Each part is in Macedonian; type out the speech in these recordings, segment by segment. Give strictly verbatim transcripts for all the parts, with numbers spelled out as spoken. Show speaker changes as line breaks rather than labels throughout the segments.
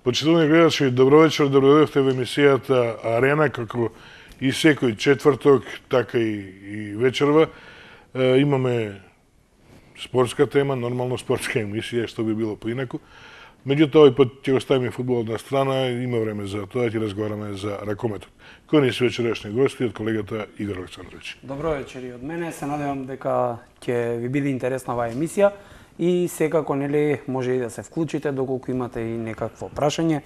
Почитувани гледачи, добро вечер, добровдојавте во емисијата Арена, како и секој четврток, така и, и вечерва. Е, имаме спортска тема, нормално спортска емисија, што би било поинаку. Меѓутоа, овој пат ќе го ставиме фудбалот на страна, има време за тоа, ќе разговараме за ракометот. Кој ни се вечерашни гости од колегата Игор Александрович.
Добро вечер и од мене, се надевам дека ќе ви биде интересна оваа емисија. И секако, нели, може и да се вклучите доколку имате и некакво прашање.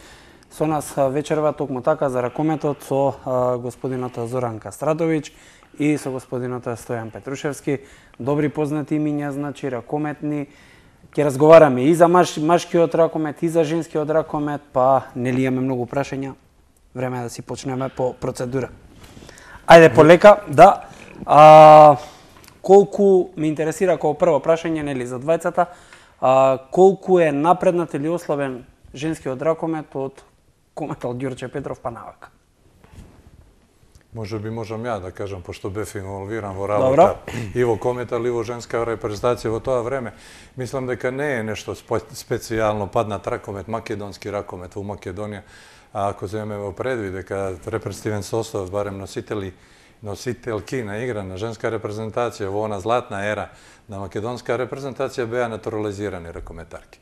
Со нас вечерва токму така за ракометот со а, господината Зоран Кастратовиќ и со господината Стојан Петрушевски. Добри познати имиња, значи ракометни. Ќе разговараме и за маш, машкиот ракомет, и за женскиот ракомет, па нели имаме многу прашања. Време е да си почнеме по процедура. Ајде полека, да. А, колку ме интересира како прво прашање, нели, за двајцата, а, колку е напреднат или ослабен женскиот ракомет од кометал Ѓорче Петров па навака?
Може би можам ја да кажам, пошто бев инволвиран во работа и во кометал и во женска репрезентација во тоа време. Мислам дека не е нешто специјално паднат ракомет, македонски ракомет во Македонија. А ако земеме во предвид дека репрезентативен состав, барем носители носителки на игра на женска репрезентација во она златна ера на македонска репрезентација беа натурализирани ракометарки.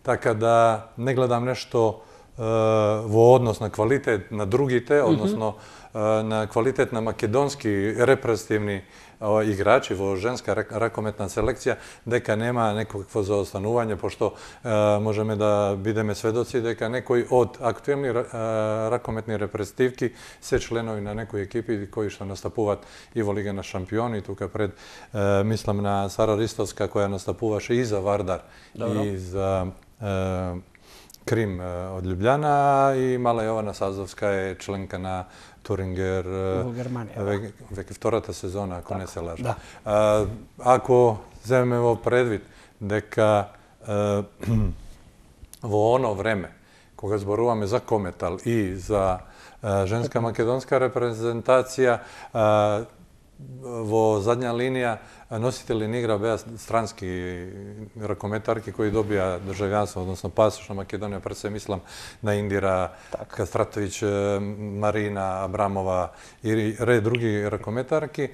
Така да не гледам нешто е, во однос на квалитет на другите, односно е, на квалитет на македонски репрезентативни играчи во женска ракометна селекција, дека нема некакво заостанување, пошто е, можеме да бидеме сведоци дека некои од активни е, ракометни репрезентативки се членови на некои екипи кои што настапуваат и во Лига на шампиони, тука пред е, мислам на Сара Ристовска која настапуваше и за Вардар. Добро. И за е, Крим од Љубљана, и Мала Јована Сазовска е членка на Турингер
во Германија.
Веќе, веќе втората сезона, ако так, не се лажа.
Да.
А, ако земеме во предвид дека а, во оно време, кога зборуваме за кометал и за а, женска македонска репрезентација, а, во задња линија носители на игра беа странски ракометарки кои добија државјанство, односно пасош на Македонија, пред се мислам на Индира так. Кастратовиќ, Марина Абрамова и ред други ракометарки.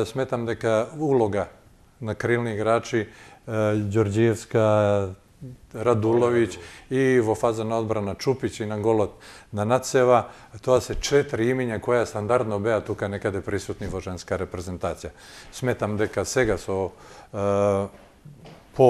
Сметам дека улога на крилни играчи Ѓорѓиевска, Радуловиќ и во фаза на одбрана Чупиќ и на голот на Нацева, тоа се четири имиња која стандардно беа тука некаде присутни во женска репрезентација. Сметам дека сега со е, по,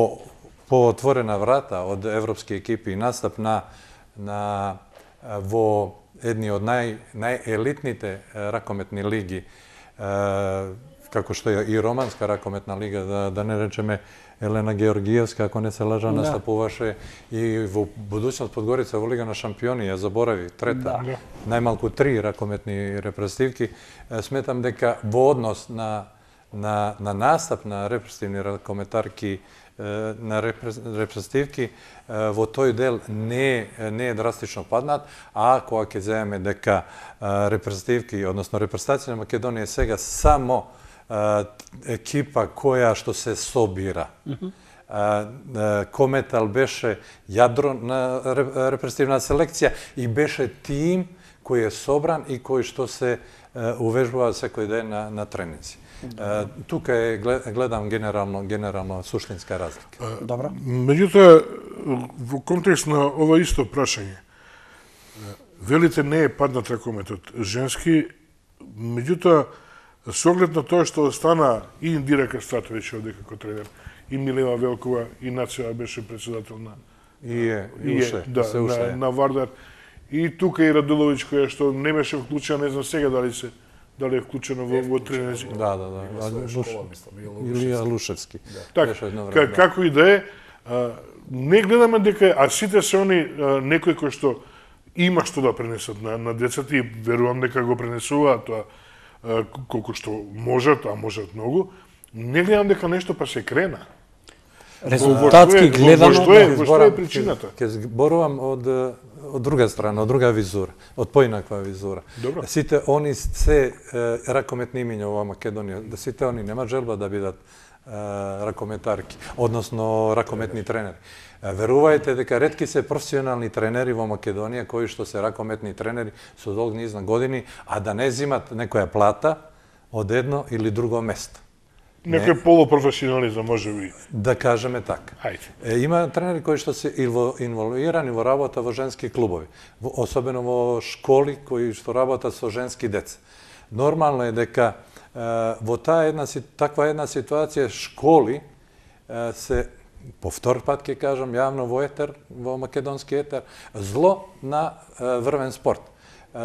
по отворена врата од европски екипи и настап на, на во едни од нај, најелитните ракометни лиги, е, како што е и романска ракометна лига, да, да не речеме Елена Георгиевска, ако не се лажа, настапуваше и во будуćност Подгорица во Лига на шампиони, ја заборави, трета, да. Најмалку три ракометни репрезентативки. Сметам дека во однос на, на, на настап на репрезентативни ракометарки, на репрезентативки, во тој дел не, не е драстично паднат, а кога ќе земеме дека репрезентативки, односно репрезентација на Македонија сега само екипа која што се собира. Mm-hmm. Кометал беше јадро на репрезентативна селекција и беше тим кој е собран и кој што се увежбува секој ден на, на тренинзи. Mm-hmm. Тука е, гледам генерално, генерално суштинска разлика.
Добро.
Меѓутоа, во контекст на ова исто прашање, велите не е паднат ракометот женски, меѓутоа, со оглед на тоа што стана и Индира Кастратовиќ овде како тренер, и Милена Велкова, и Нацева беше председател на
и е, и,
и
уше,
да,
се уше,
на, на Вардар, и тука и Радуловиќ која што не беше вклучена, не знам сега дали се дали е вклучено во, во тренерзи.
Да, да, да. Школа, мислам, Илија Лушевски.
Да. Така, време, како и да е, а, не гледаме дека, а сите се они а, некои кои што има што да пренесат на, на децата и верувам дека го пренесуваат тоа колку што можат, а можат многу, не гледам дека нешто па се крена.
Резултатски гледано,
што е, во што е причината?
Ке зборувам од од друга страна, од друга визура, од поинаква визура.
Добро.
Сите они се ракометни имиња во Македонија, да сите они нема желба да бидат ракометарки, односно ракометни тренери. Верувајте дека ретки се професионални тренери во Македонија кои што се ракометни тренери со долг низ на години, а да не земат некоја плата од едно или друго место.
Некој полупрофесионализам, може би.
Да кажеме така.
Ајде.
Има тренери кои што се инволвирани во работа во женски клубови, особено во школи кои што работат со женски деца. Нормално е дека во таа една таква една ситуација школи се по втор пат ќе кажам јавно во етер, во македонски етер, зло на врвен спорт.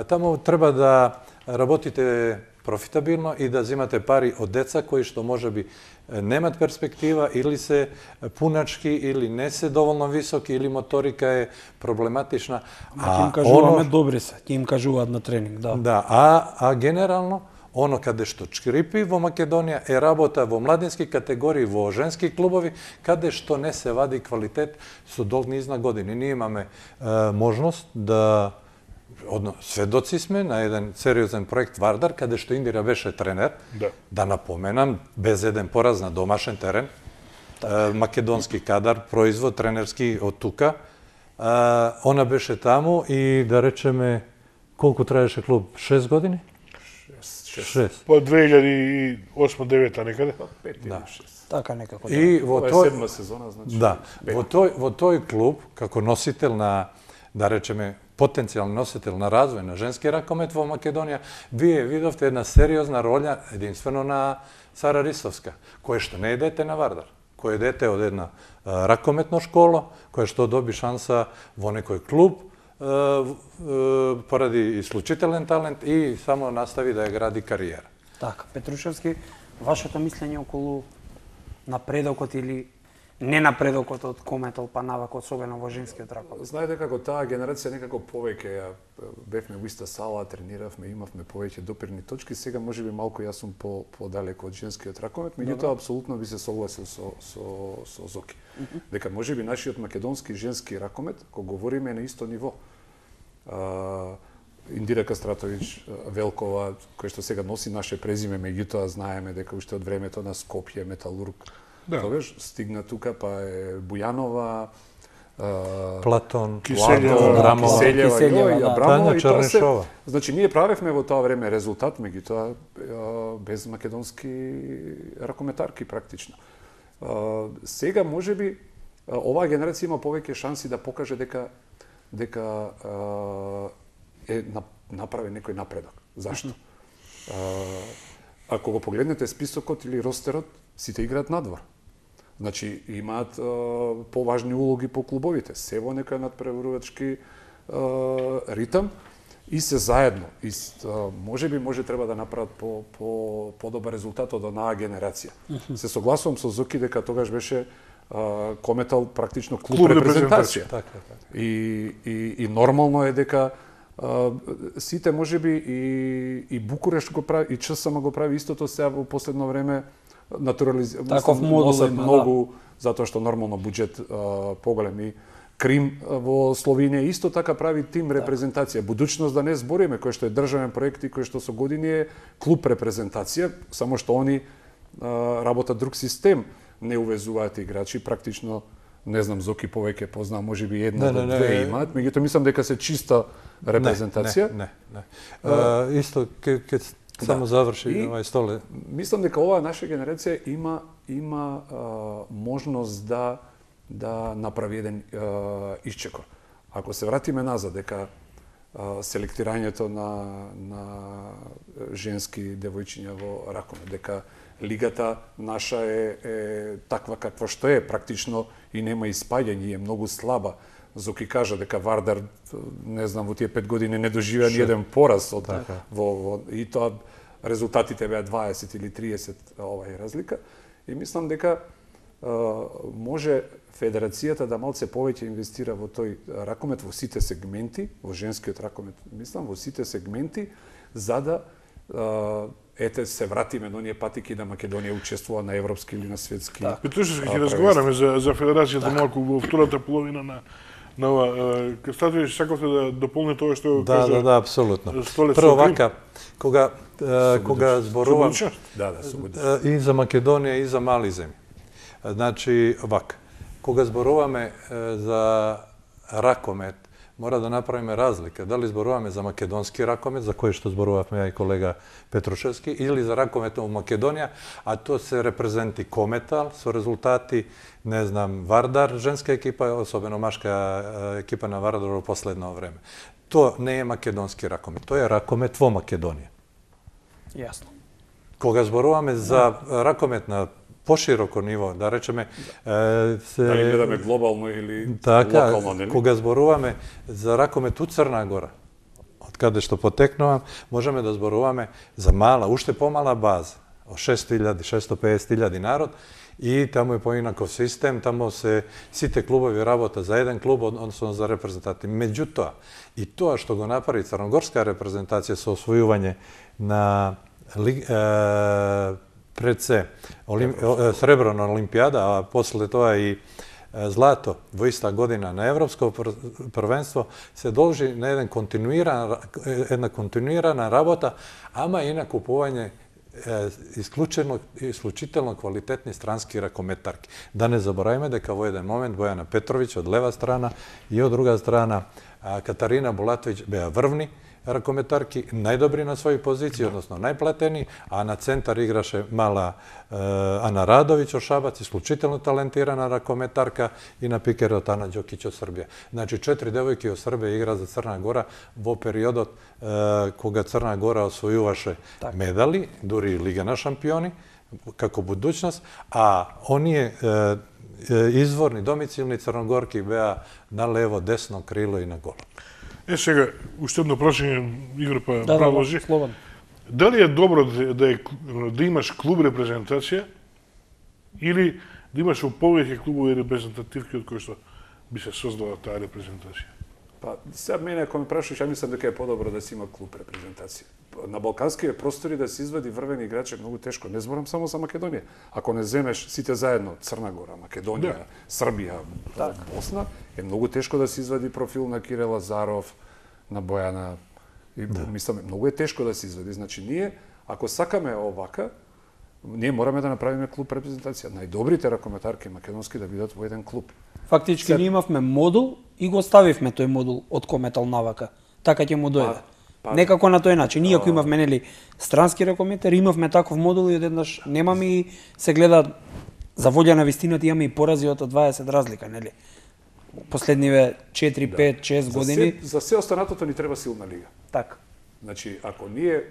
Таму треба да работите профитабилно и да земате пари од деца кои што можеби немат перспектива или се пуначки или не се доволно високи или моторика е проблематична.
А ќе им кажуваме оно... добри се, ќе им кажуваат на тренинг, да.
Да, а а генерално оно каде што чкрипи во Македонија е работа во младински категории, во женски клубови, каде што не се вади квалитет со долг низ на години. Ние имаме е, можност да одно сведоци сме на еден сериозен проект Вардар, каде што Индира беше тренер,
да,
да напоменам, без еден пораз на домашен терен, е, македонски кадар, производ тренерски од тука. Е, она беше таму и да речеме, колку траеше клуб? шест години? шест.
По две илјади и осма-девета некаде?
пет или шест.
Така некако.
И во
Ова е
тој
седма сезона, значи.
Да, во тој во тој клуб како носител на, да речеме, потенцијален носител на развој на женски ракомет во Македонија, вие видовте една сериозна роља единствено на Сара Ристовска, која што не е дете на Вардар, кој е дете од една а, ракометна школа, која што доби шанса во некој клуб, поради исклучителен талент и само настави да ја гради кариера.
Така, Петрушевски, вашето мислење околу напредокот или не напредокот од Кометол па навако, особено во женскиот ракомет?
Знаете како таа генерација некако повеќе ја бевме во иста сала, трениравме, имавме повеќе допирни точки, сега можеби малку јас сум по подалеку од женскиот ракомет, меѓутоа апсолутно би се согласил со со со Зоки. Mm -hmm. Дека можеби нашиот македонски женски ракомет, кога говориме, е на исто ниво. Uh, Индира Кастратовиќ Велкова, која што сега носи наше презиме, меѓутоа знаеме дека уште од времето на Скопје, Металург, да, тогаш стигна тука, па е Бујанова, uh,
Платон,
Киселјева,
Абрамова, Киселјева, Киселјева,
да.
Абрамова, и тоа се.
Чернишова.
Значи ние правевме во тоа време резултат, меѓутоа uh, без македонски ракометарки практично. Uh, сега можеби uh, оваа генерација има повеќе шанси да покаже дека дека е направи некој напредок. Зашто? Ако го погледнете списокот или ростерот, сите играат надвор. Значи, имаат поважни улоги по клубовите, се во некој надпреварувачки ритам и се заедно. И можеби може треба да направат по по подобар резултат од онаа генерација. Се согласувам со Зоки дека тогаш беше Uh, Кометал практично клуб, клуб репрезентација.
Така, така.
И, и, и нормално е дека uh, сите можеби и, и Букурешт го прави, и ЧСМ го прави истото сега во последно време натурализира.
Таков модул има,
многу, да. Затоа што нормално буџет uh, поголем и Крим во Словенија исто така прави тим репрезентација. Будуćност да не збориме, кој што е државен проект и кој што со години е клуб репрезентација, само што они uh, работат друг систем. Не увезуваат играчи, практично, не знам, Зоки повеќе познаа, можеби една до две имаат, меѓутоа мислам дека се чиста репрезентација.
Не, не, не. Uh, исто, ке, ке да. Само заврши овај столе.
Мислам дека оваа наша генерација има има uh, можност да да направи еден uh, исчекор. Ако се вратиме назад, дека uh, селектирањето на на женски девојчиња во ракомет, дека лигата наша е, е таква каква што е, практично и нема испаѓање, е многу слаба. Зоки кажа дека Вардар, не знам, во тие пет години не доживеа ни еден пораз од така. во, во и тоа резултатите беа дваесет или триесет овај разлика. И мислам дека а, може федерацијата да малце повеќе инвестира во тој ракомет во сите сегменти, во женскиот ракомет, мислам во сите сегменти, за да а, ете се вратиме до оние патики да Македонија учествува на европски или на светски.
Петушевски, ќе разговараме за за федерацијата малку во втората половина на на ова. Статович, сакавте да дополни тоа што
да,
кажа?
Да, да, апсолутно.
Столец
Прво
Крим?
вака, кога, е, кога зборувам
Да, да,
е, и за Македонија и за мали земји. Значи, вака, кога зборуваме е, за ракомет, мора да направиме разлика. Дали зборуваме за македонски ракомет, за кој што зборувавме ја и колега Петрушевски, или за ракомет во Македонија, а тоа се репрезенти Кометал со резултати, не знам, Вардар, женска екипа, особено машка екипа на Вардар во последно време. Тоа не е македонски ракомет, тоа е ракомет во Македонија.
Јасно.
Кога зборуваме за ракомет на пошироко ниво, да речеме, е, се...
Дали гледаме глобално или
така,
локално, нели?
Кога зборуваме за ракомет у Црна Гора, од каде што потекнувам, можеме да зборуваме за мала, уште помала база, од шесто илјади, шесто педесет илјади народ, и таму е поинаков систем, таму се сите клубови работа за еден клуб, односно за репрезентати. Меѓутоа, и тоа што го направи црногорска репрезентација со освојување на ли, е, пред се олим, сребро на Олимпијада, а после тоа и злато во иста година на Европско првенство, се должи на еден континуиран, една континуирана работа, ама и на купување исклучено исклучително квалитетни странски ракометарки. Да не забораваме дека во еден момент Бојана Петровиќ од лева страна и од друга страна Катарина Булатовиќ беа врвни ракометарки, најдобри на своји позиции, односно најплатени, а на центар играше мала е, Ана Радовиќ од Шабац, исклучително талентирана ракометарка, и на пикерот Ана Ѓокиć од Србија. Значи, четири девојки од Србија игра за Црна Гора во периодот е, кога Црна Гора освојуваше медали, дури и Лига на шампиони, како будуćност, а оние е, изворни, домицилни црногорки беа на лево, десно крило и на голо.
Е, сега, уште едно прашање, Игор, па
Да,
продолжи.
да, слободно.
Дали е добро да, да, е, да имаш клуб репрезентација или да имаш во повеќе клубови репрезентативки од кои што би се создала таа репрезентација?
Па, сега мене, ако ме прашаш, ја мислам дека е подобро да си има клуб репрезентација. На балканските простори да се извади врвени играчи е многу тешко. Не зборам само за Македонија. Ако не земеш сите заедно, Црна Гора, Македонија,
Да.
Србија, Босна, е многу тешко да се извади профил на Кире Лазаров, на Бојана. И, мислам, многу е тешко да се извади. Значи, ние, ако сакаме овака, ние мораме да направиме клуб репрезентација. Најдобрите ракометарки македонски да бидат во еден клуб.
Фактички
Се-
ние имавме модул и го ставивме тој модул од Кометал навака. Така ќе му дојде.
па-
Некако на тој начин. Ние ако имавме нели странски ракометар, имавме таков модул и одеднаш немаме и се гледа за волја на вистината имаме и порази од дваесет разлика, нели? Последниве четири, пет, шест
За
години.
се, за се останатото ни треба силна лига.
Така.
Значи, ако ние е,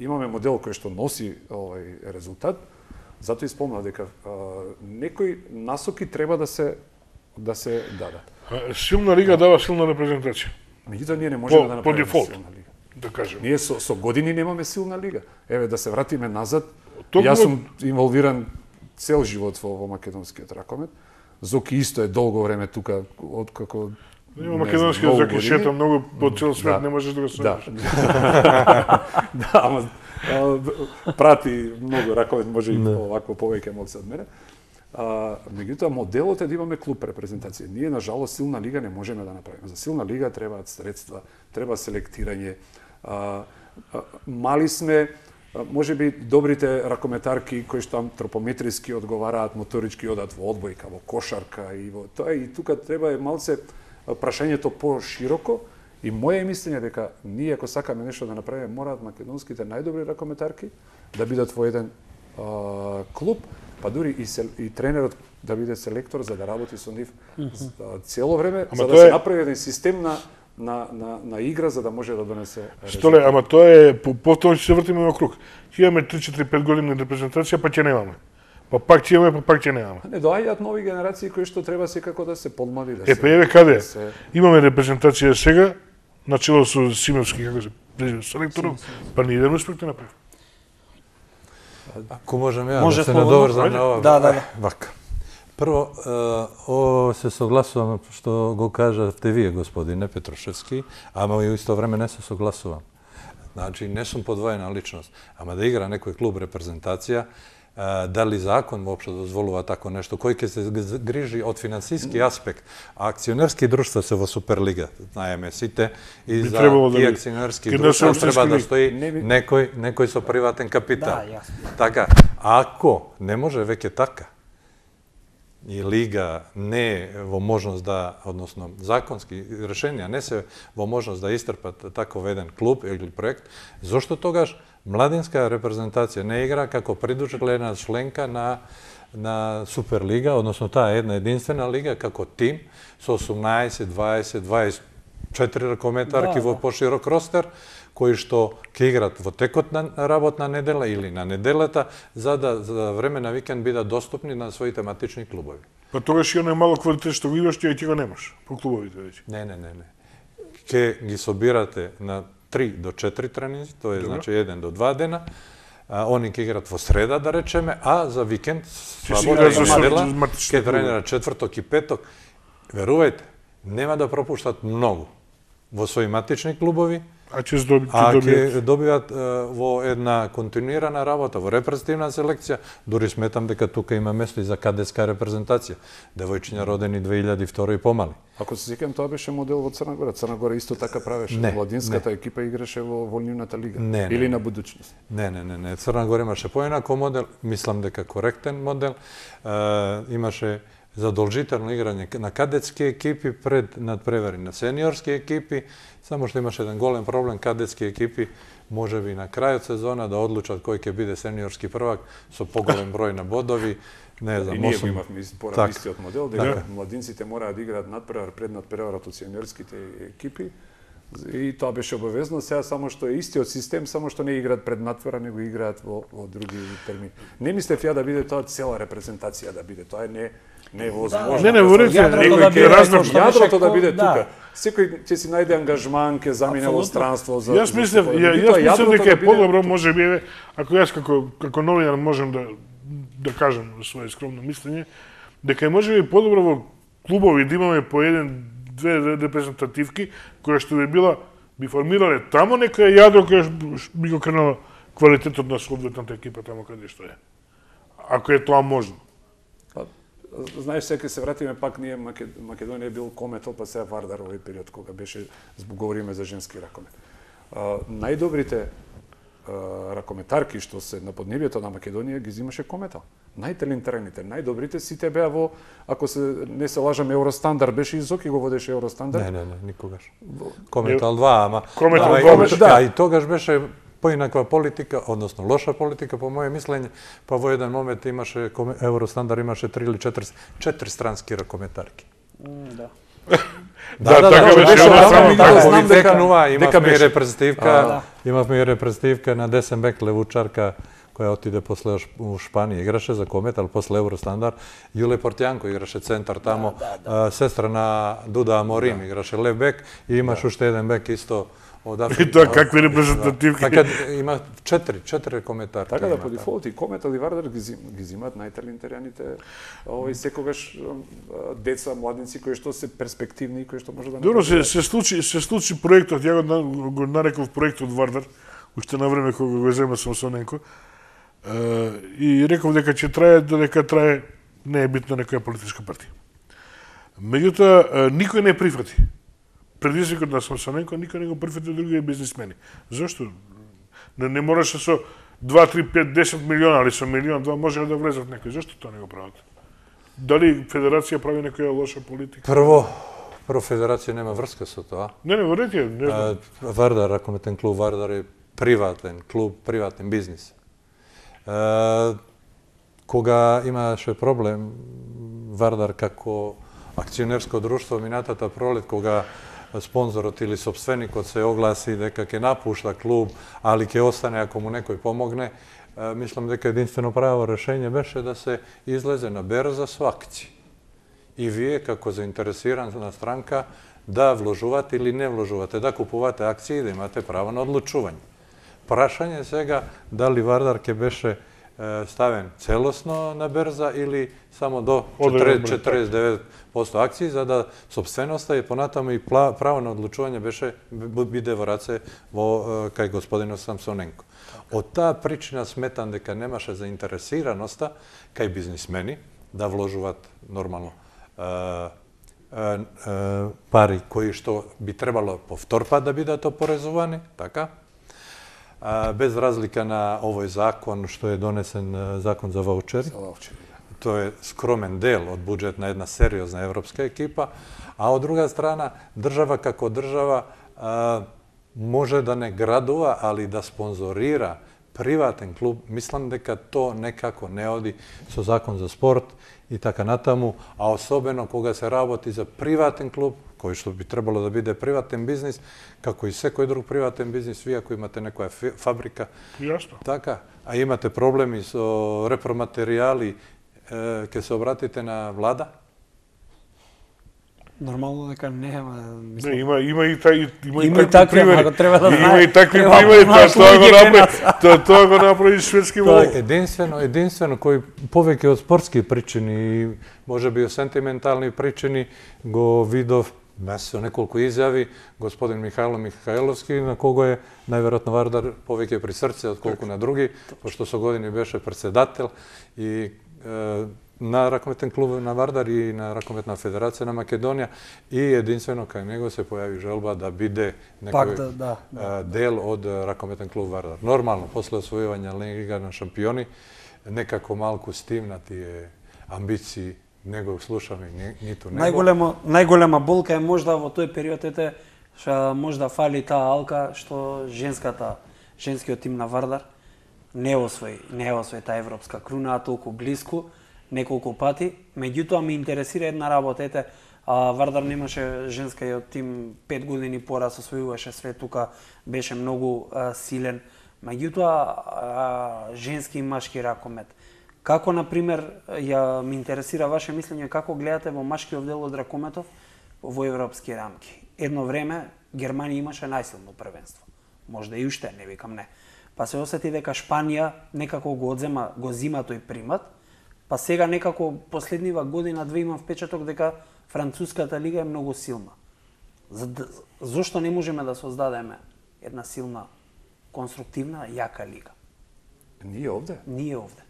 имаме модел кој што носи овај резултат, затоа и спомнав дека е, некои насоки треба да се да се дадат.
А, Силна лига дава силна репрезентација,
Меѓутоа ние не можеме
По-
да
по
направиме
дефолт.
силна лига.
да кажем.
Ние со, со години немаме силна лига. Еве да се вратиме назад.
Токму-
Јас сум инволвиран цел живот во, во македонскиот ракомет. Зоки исто е долго време тука од како
Има македонски език шета многу по цел свет,
Да.
не можеш да го
Да.
следиш.
Да, ама а, прати многу ракомет, може и овакво повеќе моци од мене. А, меѓутоа, моделот е да имаме клуб репрезентација. Ние, на жалост, силна лига не можеме да направиме. За силна лига требаат средства, треба селектирање. А, а, мали сме, а, може би добрите ракометарки кои што антропометриски одговараат, моторички одат во одбојка, во кошарка и во тоа, и тука треба е малце а, прашањето по-широко. И моје мислење дека ние ако сакаме нешто да направиме, мораат македонските најдобри ракометарки да бидат во еден а, клуб, па дури и, сел, и тренерот да биде селектор за да работи со нив mm-hmm. цело време,
Ама
за да
тоа
се
е-
направи еден систем на, на, на, на игра за да може да донесе
Столе, ама тоа е, по- повторно ќе се вртиме во круг. Ќе имаме три четири пет години репрезентација, па ќе немаме. Па пак ќе имаме, па пак ќе немаме.
Не доаѓаат нови генерации кои што треба секако да се подмлади, да
Е,
се...
па еве каде?
да се...
Имаме репрезентација сега, начело со Симевски, како се презира селекторот, па ни еден успех да направи.
Ако можам ја
Може
да се
слободно.
надоврзам на ова.
Да, да, да.
Вака. Прво, е, о, се согласувам што го кажавте вие, господине Петрушевски, ама и у исто време не се согласувам. Значи, не сум подвоена личност, ама да игра некој клуб репрезентација, дали закон воопшто дозволува тако нешто, кој ќе се грижи од финансиски аспект, а акционерски друштва се во Суперлига, знаеме сите, и за тие акционерски друштва треба да стои некој некој со приватен капитал. Така, ако не може веќе така, и Лига не е во можност да, односно законски решенија не се во можност да истрпат таков еден клуб или проект, зошто тогаш младинска репрезентација не игра како придружена членка на на Суперлига, односно таа една единствена лига како тим со осумнаесет, дваесет, дваесет и четири ракометарки во поширок ростер, кои што ќе играат во текот на работна недела или на неделата, за да за време на викенд бидат достапни на своите матични клубови.
Па тогаш и оној мало квалитет што го имаш, ти ќе го немаш по клубовите веќе.
Не, не, не, не. Ке ги собирате на три до четири тренинзи, тоа е значи еден до два дена. А, они ќе играат во среда, да речеме, а за викенд, слабода и недела, ќе тренират четврток и петок. Верувајте, нема да пропуштат многу во своји матични клубови,
а ќе добијат,
а ќе добиват во една континуирана работа, во репрезентативна селекција, дури сметам дека тука има место и за кадетска репрезентација, девојчиња родени две илјади и втора и помали.
Ако се сеќавам, тоа беше модел во Црна Гора. Црна Гора исто така правеше.
Не,
Младинската
не.
екипа играше во волнивната лига.
Не,
Или
не,
на будучност.
Не, не, не, не. Црна Гора имаше поинако модел, мислам дека коректен модел. Е, имаше задолжително играње на кадетски екипи пред надпревари на сениорски екипи, само што имаше еден голем проблем, кадетски екипи можеби на крајот сезона да одлучат кој ќе биде сениорски првак со поголем број на бодови. Не знам,
и ние
осум...
имавме порано истиот модел, дека
така.
младинците мора да играат надпревар пред надпреварот од сениорските екипи. И тоа беше обавезно, сега само што е истиот систем, само што не играат пред надпревар, него играат во, во други термини. Не мислев ја да биде тоа цела репрезентација да биде, тоа е не не е возможно.
Не, не, во ред,
некој
да
ќе
разнам
јадрото да биде
да.
тука. Секој ќе си најде ангажман, ќе замине во странство за.
Јас мислев, ја, јас мислев дека е подобро, може би, ако јас како како новинар можам да да кажам своје скромно мислење, дека е може би подобро во клубови да имаме по еден две репрезентативки која што би била би формирале тамо некоја јадро која би го кренала квалитетот на соодветната екипа тамо каде што е. Ако е тоа можно.
Знаеш, сега се вратиме пак ние Македонија бил кометол, па сега Вардар овој период кога беше говориме за женски ракомет. А, најдобрите а, ракометарки што се на поднебјето на Македонија ги зимаше кометал. Најталентираните, најдобрите сите беа во, ако се не се лажам, Евростандар беше и Зоки го водеше Евростандар.
Не, не, не, никогаш. Кометал два, ама
Кометал два беше.
Да, и тогаш беше поинаква политика, односно лоша политика по моје мислење, па во еден момент имаше Евростандар имаше три или четири четири странски ракометарки.
Да.
Да, да,
така беше, само
така
знам дека
текнува, имавме и репрезентативка,
да.
имавме и репрезентативка на десен бек левучарка која отиде после у Шпанија, играше за Кометал, после Евростандар. Јуле Портјанко играше центар тамо,
да, да, да.
сестра на Дуда Аморим играше лев бек и имаше уште еден бек исто од
И тоа какви репрезентативки.
Така има четири, четири кометарки.
Така да по дефолт и Кометал и Вардар ги, зим, ги зимаат најталентираните овој секогаш деца, младинци кои што се перспективни и кои што може да
Добро, се, се случи се случи проектот, ја го, го нареков проектот Вардар, уште на време кога го зема Самсоненко. И реков дека ќе трае додека трае, не е битна некоја политичка партија. Меѓутоа никој не прифати. Предизвикот на Самсоненко никој не го прифати од другите бизнисмени. Зошто? Не, не мораше со два, три, пет, десет милиона, али со милион, два може да влезат некој. Зошто тоа не го прават? Дали Федерација прави некоја лоша политика?
Прво, прво Федерација нема врска со тоа.
Не, не, верете, не знам.
Вардар, ракометен клуб Вардар е приватен клуб, приватен бизнис. Uh, кога имаше проблем Вардар како акционерско друштво минатата пролет, кога спонзорот или собственикот се огласи дека ќе напушта клуб, али ќе остане ако му некој помогне, uh, мислам дека единствено право решение беше да се излезе на берза со акции. И вие како заинтересирана странка да вложувате или не вложувате, да купувате акции и да имате право на одлучување. Прашање сега дали Вардар ќе беше ставен целосно на берза или само до
Одреден број,
четириесет девет проценти акции, за да собственоста и понатаму и право на одлучување беше биде во раце во кај господинот Самсоненко. Од таа причина сметам дека немаше заинтересираноста кај бизнисмени да вложуваат нормално пари кои што би требало по втор пат да бидат опорезувани, така? Без разлика на овој закон што е донесен закон за ваучери.
За ваучери, да.
Тоа е скромен дел од буџет на една сериозна европска екипа, а од друга страна држава како држава а, може да не градува, али да спонзорира приватен клуб. Мислам дека то некако не оди со закон за спорт и така натаму, а особено кога се работи за приватен клуб, кој што би требало да биде приватен бизнис, како и секој друг приватен бизнис, вие ако имате некоја фабрика,
Јасно.
така, а имате проблеми со репроматеријали, е, ке се обратите на влада?
Нормално дека нема, мислам.
Не, има има и тај има и
Има и
такви
такви,
примери.
ама треба да
Има
знае-
и такви
треба да
примери,
знаеш
тоа тоа го
луѓе
направи,
кај
тоа тоа го направи шведски
Тоа
волк.
е единствено, единствено кој повеќе од спортски причини и можеби од сентиментални причини го видов со неколку изјави господин Михајло Михајловски, на кого е најверојатно Вардар повеќе при срце отколку на други, пошто со години беше председател и е, на ракометен клуб на Вардар и на ракометна федерација на Македонија и единствено кај него се појави желба да биде
Пак
некој
да, да,
а, дел од ракометен клуб Вардар. Нормално, после освојување на Лига на шампиони, некако малку стимнати е амбиции, не го слушаме ни, ниту него.
Најголема најголема болка е можда во тој период ете што можда фали таа алка што женската женскиот тим на Вардар не освои, не освои таа европска круна толку блиску неколку пати. Меѓутоа ме интересира една работа, ете, а, Вардар немаше женскиот тим пет години пораз освојуваше све, тука беше многу а, силен. Меѓутоа а, женски и машки ракомет. Како, например, ја ми интересира ваше мислење, како гледате во машкиот дел од ракометов во европски рамки? Едно време Германија имаше најсилно првенство. Можда и уште, не викам не. Па се осети дека Шпанија некако го одзема, го зима тој примат, па сега некако последнива година две имам впечаток дека француската лига е многу силна. За, зошто не можеме да создадеме една силна, конструктивна, јака лига?
Ние овде?
Ние овде.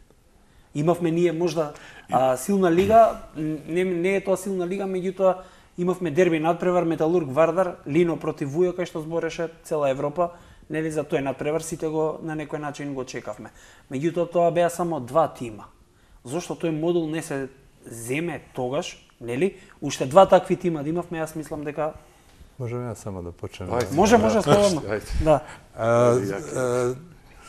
Имавме ние можда а, силна лига, не, не е тоа силна лига, меѓутоа имавме дерби надпревар Металург Вардар, Лино против Вујо, кај што збореше цела Европа, нели за тој надпревар сите го на некој начин го чекавме. Меѓутоа тоа беа само два тима. Зошто тој модул не се земе тогаш, нели? Уште два такви тима да имавме, јас мислам дека
Можеме јас само да почнем.
Ајде.
може, може слободно.
Ајде.
Да.
А, а,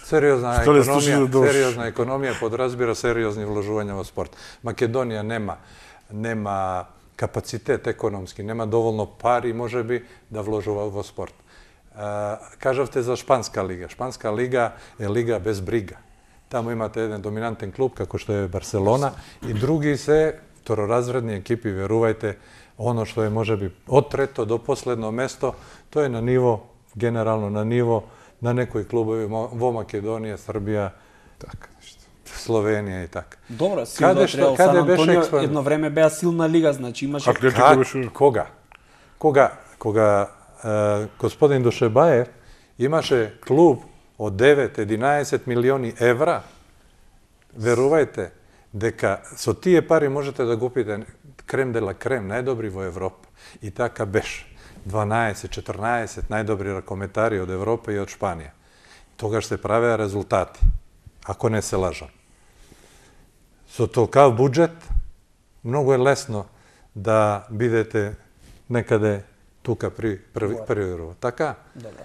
сериозна
Што ли
економија,
слушате да дош?
сериозна економија подразбира сериозни вложувања во спорт. Македонија нема нема капацитет економски, нема доволно пари можеби да вложува во спорт. А, кажавте за Шпанска лига. Шпанска лига е лига без брига. Таму имате еден доминантен клуб како што е Барселона и други се второразредни екипи, верувајте, оно што е можеби од трето до последно место, тоа е на ниво, генерално на ниво на некои клубови во Македонија, Србија,
Така, нешто.
Словенија и така.
Добро,
Каде
силно
што-
Реал
каде
Сан
беше
Антонио
експан-
едно време беа силна лига, значи имаше
Атлетико
Как?
беше...
Кога? Кога? Кога е, господин Душебаев имаше клуб од девет единаесет милиони евра, верувајте дека со тие пари можете да купите крем де ла крем, најдобри во Европа. И така беше. дванаесет четрнаесет најдобри ракометари од Европа и од Шпанија. Тогаш се правеа резултати, ако не се лажам. Со толкав буџет, многу е лесно да бидете некаде тука при први, први ров. Така?
Добро.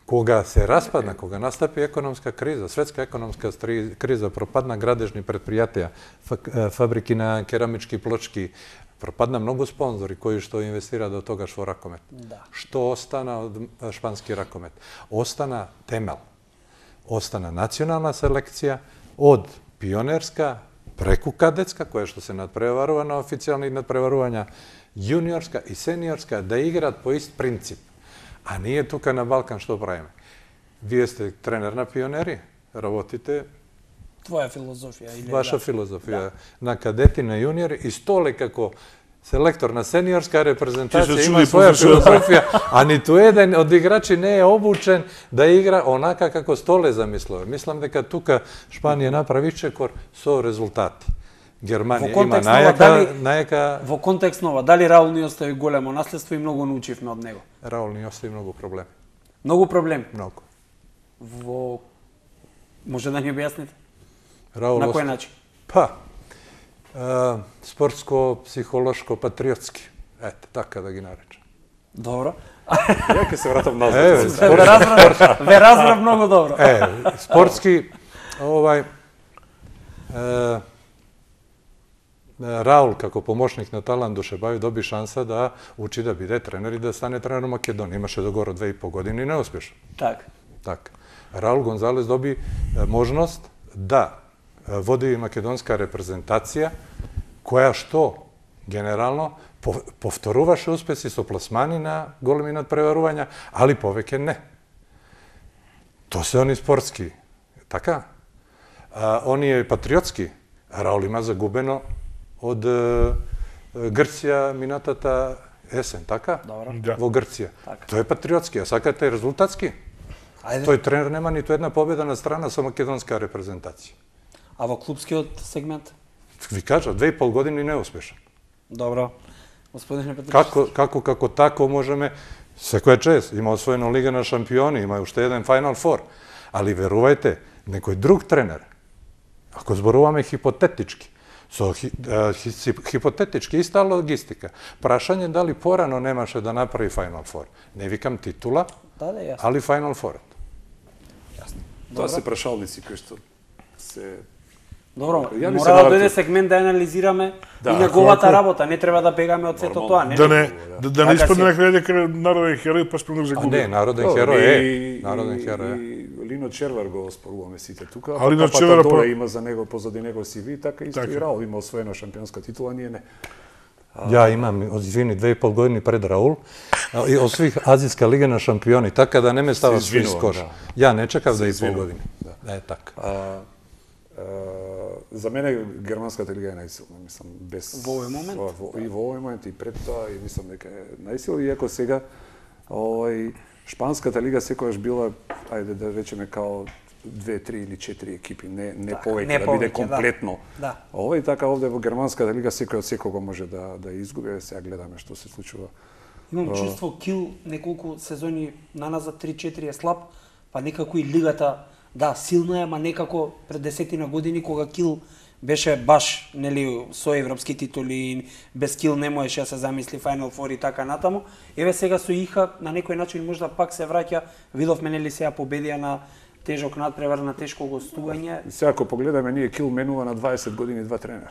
Кога се распадна, кога настапи економска криза, светска економска стри- криза, пропадна градежни предпријатија, фа- фабрики на керамички плочки, пропадна многу спонзори кои што инвестира до тогаш во ракомет.
Да.
Што остана од шпански ракомет? Остана темел. Остана национална селекција од пионерска преку кадетска, која што се надпреварува на официјални надпреварувања, јуниорска и сениорска, да играат по ист принцип. А ние тука на Балкан што правиме? Вие сте тренер на пионери, работите
твоја филозофија или
Ваша
да.
филозофија на кадети, на јуниори и Столе како селектор на сениорска репрезентација
Ќе се
има
чуди
своја
после што-
филозофија, а ниту еден од играчи не е обучен да игра онака како Столе замислува. Мислам дека тука Шпанија направи чекор со резултати. Германија
Во
има
контекст на ова,
најака,
дали-
најака
Во контекст на ова, дали Раул ни остави големо наследство и многу научивме од него?
Раул ни остави многу проблеми.
Многу проблем.
Многу.
Во може да ни објасните?
Раул
На кој
остави-
начин?
Па, е, спортско, психолошко, патриотски. Ете, така да ги наречам.
Добро.
Ја ќе се вратам назад.
Еве,
Ве разбрав, ве разбрав многу добро.
Е, спортски, овај, е, Раул како помошник на Талан Душебају доби шанса да учи да биде тренер и да стане тренер у Македонија. Имаше догоро две и по години и неуспешно.
Так.
Така. Раул Гонзалес доби е, можност да е, води македонска репрезентација, која што генерално по- повторуваше успеси со пласмани на големи надпреварувања, али повеќе не. То се они спортски. Така? А, оние патриотски. Раул има загубено од е, Грција минатата есен, така?
Добро.
Да.
Во Грција.
Така.
Тој е патриотски, а сакате резултатски?
Ајде.
Тој тренер нема ниту една победа на страна со македонска репрезентација.
А во клубскиот сегмент?
Ви кажа, две и пол години неуспешен.
Добро. Господине Петров.
Како, како, како тако можеме, секоја чест, има освоено Лига на шампиони, има уште еден Final Four, али верувајте, некој друг тренер, ако зборуваме хипотетички, со хи, а, хи, хипотетички иста логистика, прашање дали порано немаше да направи Final Four. Не викам титула,
Да, да, јасно.
али Final Four.
Тоа се прашалници кои што се
Добро,
Ја би се
мора да
навратил.
дојде сегмент да анализираме
Да,
и неговата
ако-
работа, не треба да бегаме од сето
Нормално.
тоа, не?
Да не, да, да не
Така
испадне
се.
на крај дека народен херој па спремнок
А
загуби.
не, народен
Добро,
херој
и-
е. Народен
и-
херој е.
И Лино Червар го споруваме сите тука.
А Лино
Папата
Червар,
доле
па-
има за него позади него си ви, така исто
Така.
и Раул има освоена шампионска титула, ние не.
Ја имам, извини, две и пол години пред Раул, а, и освих Азиска лига на шампиони, така да не ме става
Се извинувам,
скош.
да.
Ја не чекав
Се
две и пол
извинувам,
години. Да. Е, така.
А, а, за мене германската лига е најсилна, мислам, без
Во овој момент?
Во, во, и во овој момент и пред тоа и мислам дека е најсилна, иако сега овој шпанската лига секогаш била, ајде да речеме као две, три или четири екипи, не не
Така,
повеќе,
не
да биде
повеќе, да.
комплетно.
Да.
Овој така овде во германската лига секој од секого може да да изгуби, сега гледаме што се случува.
Имам чувство Кил неколку сезони наназад три-четири е слаб, па некако и лигата, да, силна е, ама некако пред десетина години кога Кил беше баш, нели, со европски титули, без Кил не можеше да се замисли Final Four и така натаму. Еве сега со Иха на некој начин можда пак се враќа, видовме нели сега победија на тежок надпревар, на тешко гостување.
И сега ако погледаме, ние Кил менува на дваесет години два тренер.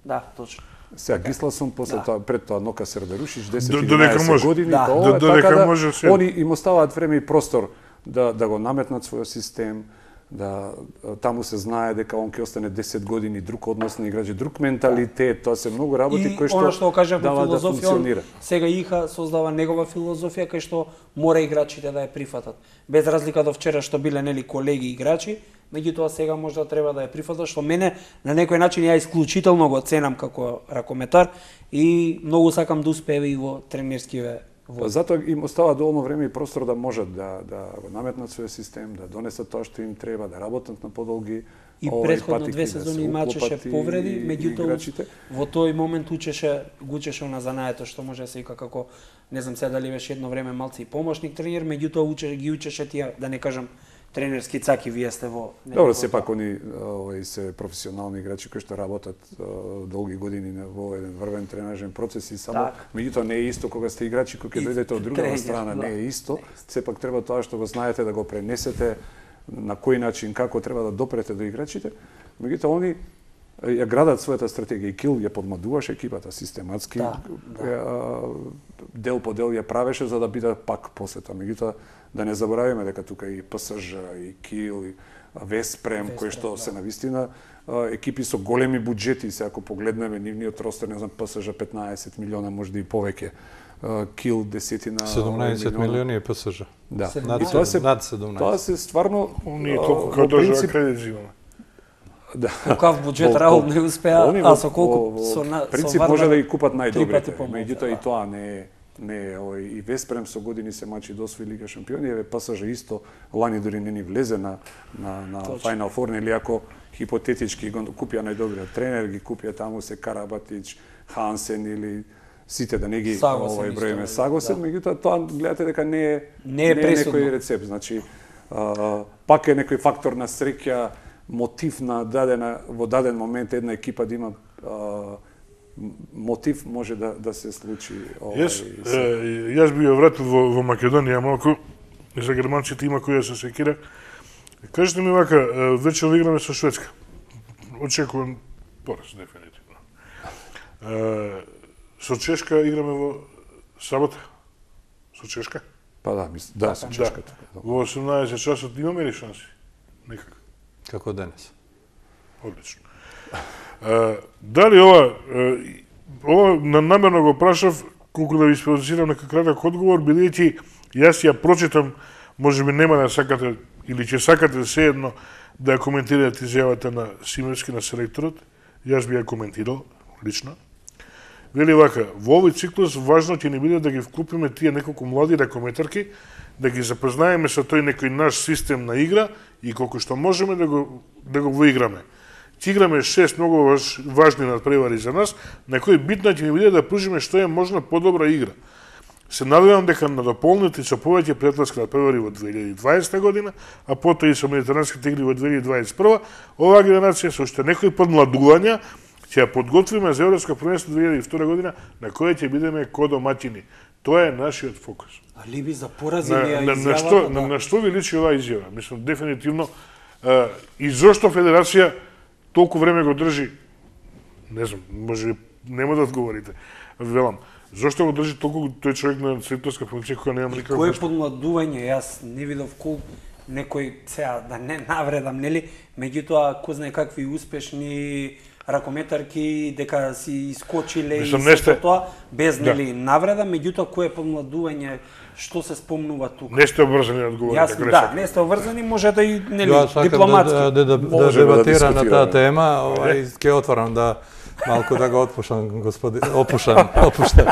Да, точно.
Сега Гисласон, после
Да.
тоа, пред тоа Нока Сердарушич,
До-
десет
додека
единаесет
може.
години,
Да.
па ова
До-
е
додека
така да
може се.
они им оставаат време и простор да да го наметнат својот систем, да таму се знае дека он ќе остане десет години, друг однос на играчи, друг менталитет, тоа се многу работи
И
кои што
она што го кажавме
дава да
филозофија,
функционира.
он сега Иха создава негова филозофија кај што мора играчите да ја прифатат. Без разлика до вчера што биле нели колеги играчи, меѓутоа сега можда треба да ја прифатат, што мене на некој начин ја исклучително го ценам како ракометар и многу сакам да успее и во тренерскиве
Па
води.
затоа им остава доволно време и простор да можат да да го наметнат својот систем, да донесат тоа што им треба, да работат на подолги
И
овај
претходно
патики,
две
да се
сезони имачеше
уклопат и-
повреди,
и
меѓутоа
играчите.
во тој момент учеше, го учеше на занаето што може да се вика како, не знам сега дали беше едно време малци и помошник тренер, меѓутоа учеше, ги учеше тие, да не кажам, тренерски цаки, вие сте во...
Добро, сепак они овој се професионални играчи кои што работат а, долги години на во еден врвен тренажен процес и само
Так.
меѓутоа не е исто кога сте играчи кои ќе
И
дојдете од другата
тренер,
страна,
да.
не е исто. Сепак треба тоа што го знаете да го пренесете, на кој начин, како треба да допрете до играчите. Меѓутоа они ја градат својата стратегија и Кил ја подмадуваше екипата систематски,
Да,
ја, дел по дел ја правеше за да биде пак после тоа. Меѓутоа да не заборавиме дека тука и ПСЖ, и Кил, и Веспрем, кои што се навистина а, екипи со големи буџети, се ако погледнеме нивниот ростер, не знам, ПСЖ петнаесет милиона, можда и повеќе. А, Кил десетина
седумнаесет милиони е ПСЖ.
Да.
Над
И тоа се
над седумнаесет.
тоа се стварно
Ние
а,
толку
во
како држава
принцип,
кредит зимаме.
Да.
Какав буџет
Во-
Раул
во-
не успеа,
они
а
во-
со колку
во- во
со на со
принцип
Вардар
може да ги купат
три
најдобрите.
пати помалку,
Меѓутоа и
да.
тоа не е не е овој и Веспрем со години се мачи до освои Лига шампиони, еве ПСЖ исто лани дури не ни влезе на на на Final Four, или ако хипотетички го купија најдобриот тренер, ги купија таму се Карабатич, Хансен или сите да не ги
Сагосен
овој
исто,
броиме
да.
Сагосен, меѓутоа тоа гледате дека не е
Не е пресудно.
некој рецепт, значи а, пак е некој фактор на среќа, мотив на дадена во даден момент една екипа да има а, мотив може да да се случи овај.
Јас, е, јас би ја вратил во, во Македонија малку, и за германците има која се секира. Кажете ми вака, е, вечер играме со Шведска. Очекувам пораз, дефинитивно. Е, со Чешка играме во сабота. Со Чешка?
Па да, мис, да, со
Да.
Чешката.
Во осумнаесет часот имаме ли шанси? Никак.
Како денес.
Одлично. Е, дали ова, е, ова на- намерно го прашав, колку да ви спровоцирам нека краток одговор, бидејќи јас ја прочитам, може би нема да сакате, или ќе сакате sejedno да ја коментирате изјавата на Симевски, на селекторот, јас би ја коментирал, лично. Вели вака, во овој циклус важно ќе ни биде да ги вклупиме тие неколку млади ракометарки, да ги запознаеме со тој некој наш систем на игра и колку што можеме да го, да го воиграме. Ќе играме шест многу важ, важни надпревари за нас, на кои битно ќе ни биде да пружиме што е можно подобра игра. Се надевам дека на дополнете со повеќе пријателски надпревари во две илјади и дваесета година, а потоа и со медитеранските игри во две илјади и дваесет и прва, оваа генерација со уште некои подмладувања ќе ја подготвиме за Европско првенство две илјади и втора година, на кое ќе бидеме ко домаќини. Тоа е нашиот фокус.
Алиби за порази
На,
ли ја
на, на, што,
изјавата,
на,
да.
на што ви личи оваа изјава? Мислам, дефинитивно, а, и зошто Федерација толку време го држи, не знам, може би нема да одговорите, велам, зошто го држи толку тој човек на селекторска функција кога нема никаква
Кое
врска?
подмладување, јас не видов кол некој сега да не навредам, нели, меѓутоа кој знае какви успешни ракометарки дека си искочиле
Мислам,
и
не
сето
сте-
тоа без
Да.
нели навреда, меѓутоа кое подмладување што се спомнува тука.
Не сте обрзани да одговорите,
Јас
ако не
да,
сакате.
не сте обврзани, може да и нели
Јас сакам
дипломатски.
да, да, да, да, да
Можеме да
дебатирам на таа
дискутираме.
тема, овај ќе отворам да малку да го отпушам господин опушам, опуштам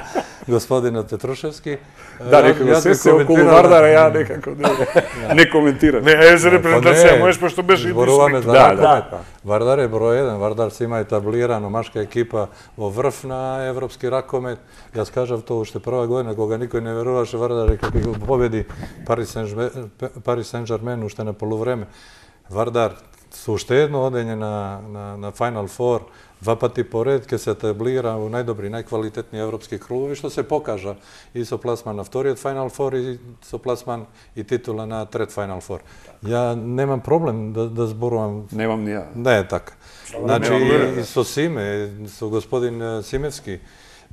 господинот Петрушевски.
Да,
Јас-
некако
јас
се
би
се околу
коментирал-
Вардара, ја некако не, не коментирам.
Не, е за
Па
репрезентација,
не,
можеш пошто беше и
зборуваме за
Да,
ракомет.
да.
Вардар е број еден, Вардар се има етаблирано машка екипа во врв на европски ракомет. Јас кажав тоа уште прва година кога никој не веруваше Вардар дека ќе го победи Парис Сен-Жермен, Парис Сен-Жермен уште на полувреме. Вардар со уште едно одење на на на Final Four, два пати поред ќе се етаблира во најдобри, најквалитетни европски клубови, што се покажа и со пласман на вториот Final Four и со пласман и титула на трет Final Four. Ја немам проблем да, да зборувам.
Немам ни ја.
Не е така. Значи,
немам
и со Симе, со господин е, Симевски,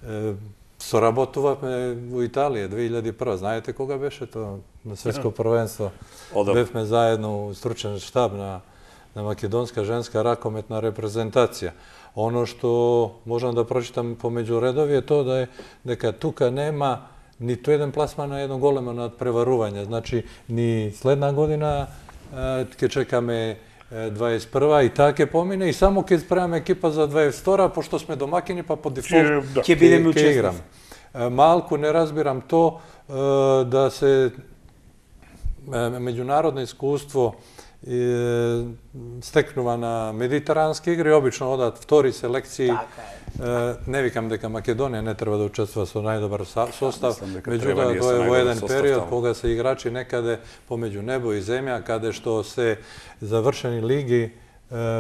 е, соработувавме во Италија две илјади и прва. Знаете кога беше тоа на светско првенство?
Одам.
Бевме заедно у стручен штаб на на македонска женска ракометна репрезентација. Оно што можам да прочитам помеѓу редови е тоа да е дека тука нема ниту еден пласман на едно големо надпреварување. Значи, ни следна година е, ќе чекаме е, дваесет и прва и таа ќе помине и само ќе спремаме екипа за дваесет и втора, пошто сме домакини, па по дефолт
Ќе- да.
Ќе бидеме
ќе играм.
учесници.
Е, Малку не разбирам то е, да се е, меѓународно искуство е, стекнува на медитерански игри, обично одат втори селекции.
Така
Е, Не викам дека Македонија не треба да учествува со најдобар са- состав,
мислам дека треба
меѓутоа
ние
тоа
со
е во
најдобар
еден
состав
период
таму.
кога се играчи некаде помеѓу небо и земја, каде што се завршени лиги е,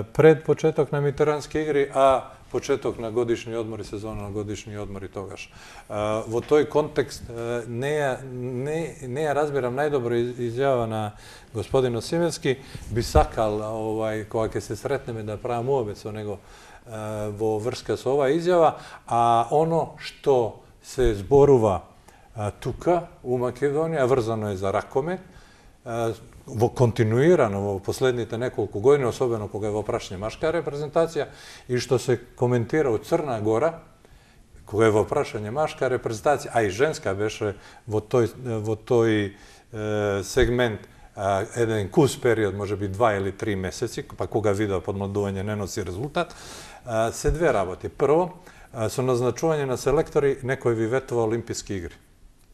пред почеток на медитерански игри, а почеток на годишни одмори, сезона на годишни одмори тогаш. А, во тој контекст е, не ја, не, не ја разбирам најдобро из- изјава на господин Осимевски, би сакал овај кога ќе се сретнеме да правам уобет со него е, во врска со оваа изјава, а оно што се зборува а, тука у Македонија врзано е за ракомет, а, во континуирано во последните неколку години, особено кога е во прашање машка репрезентација и што се коментира од Црна Гора, кога е во прашање машка репрезентација, а и женска беше во тој во тој е, сегмент еден кус период, може би два или три месеци, па кога видео подмладување не носи резултат, се две работи. Прво, со назначување на селектори, некој ви ветува Олимписки игри.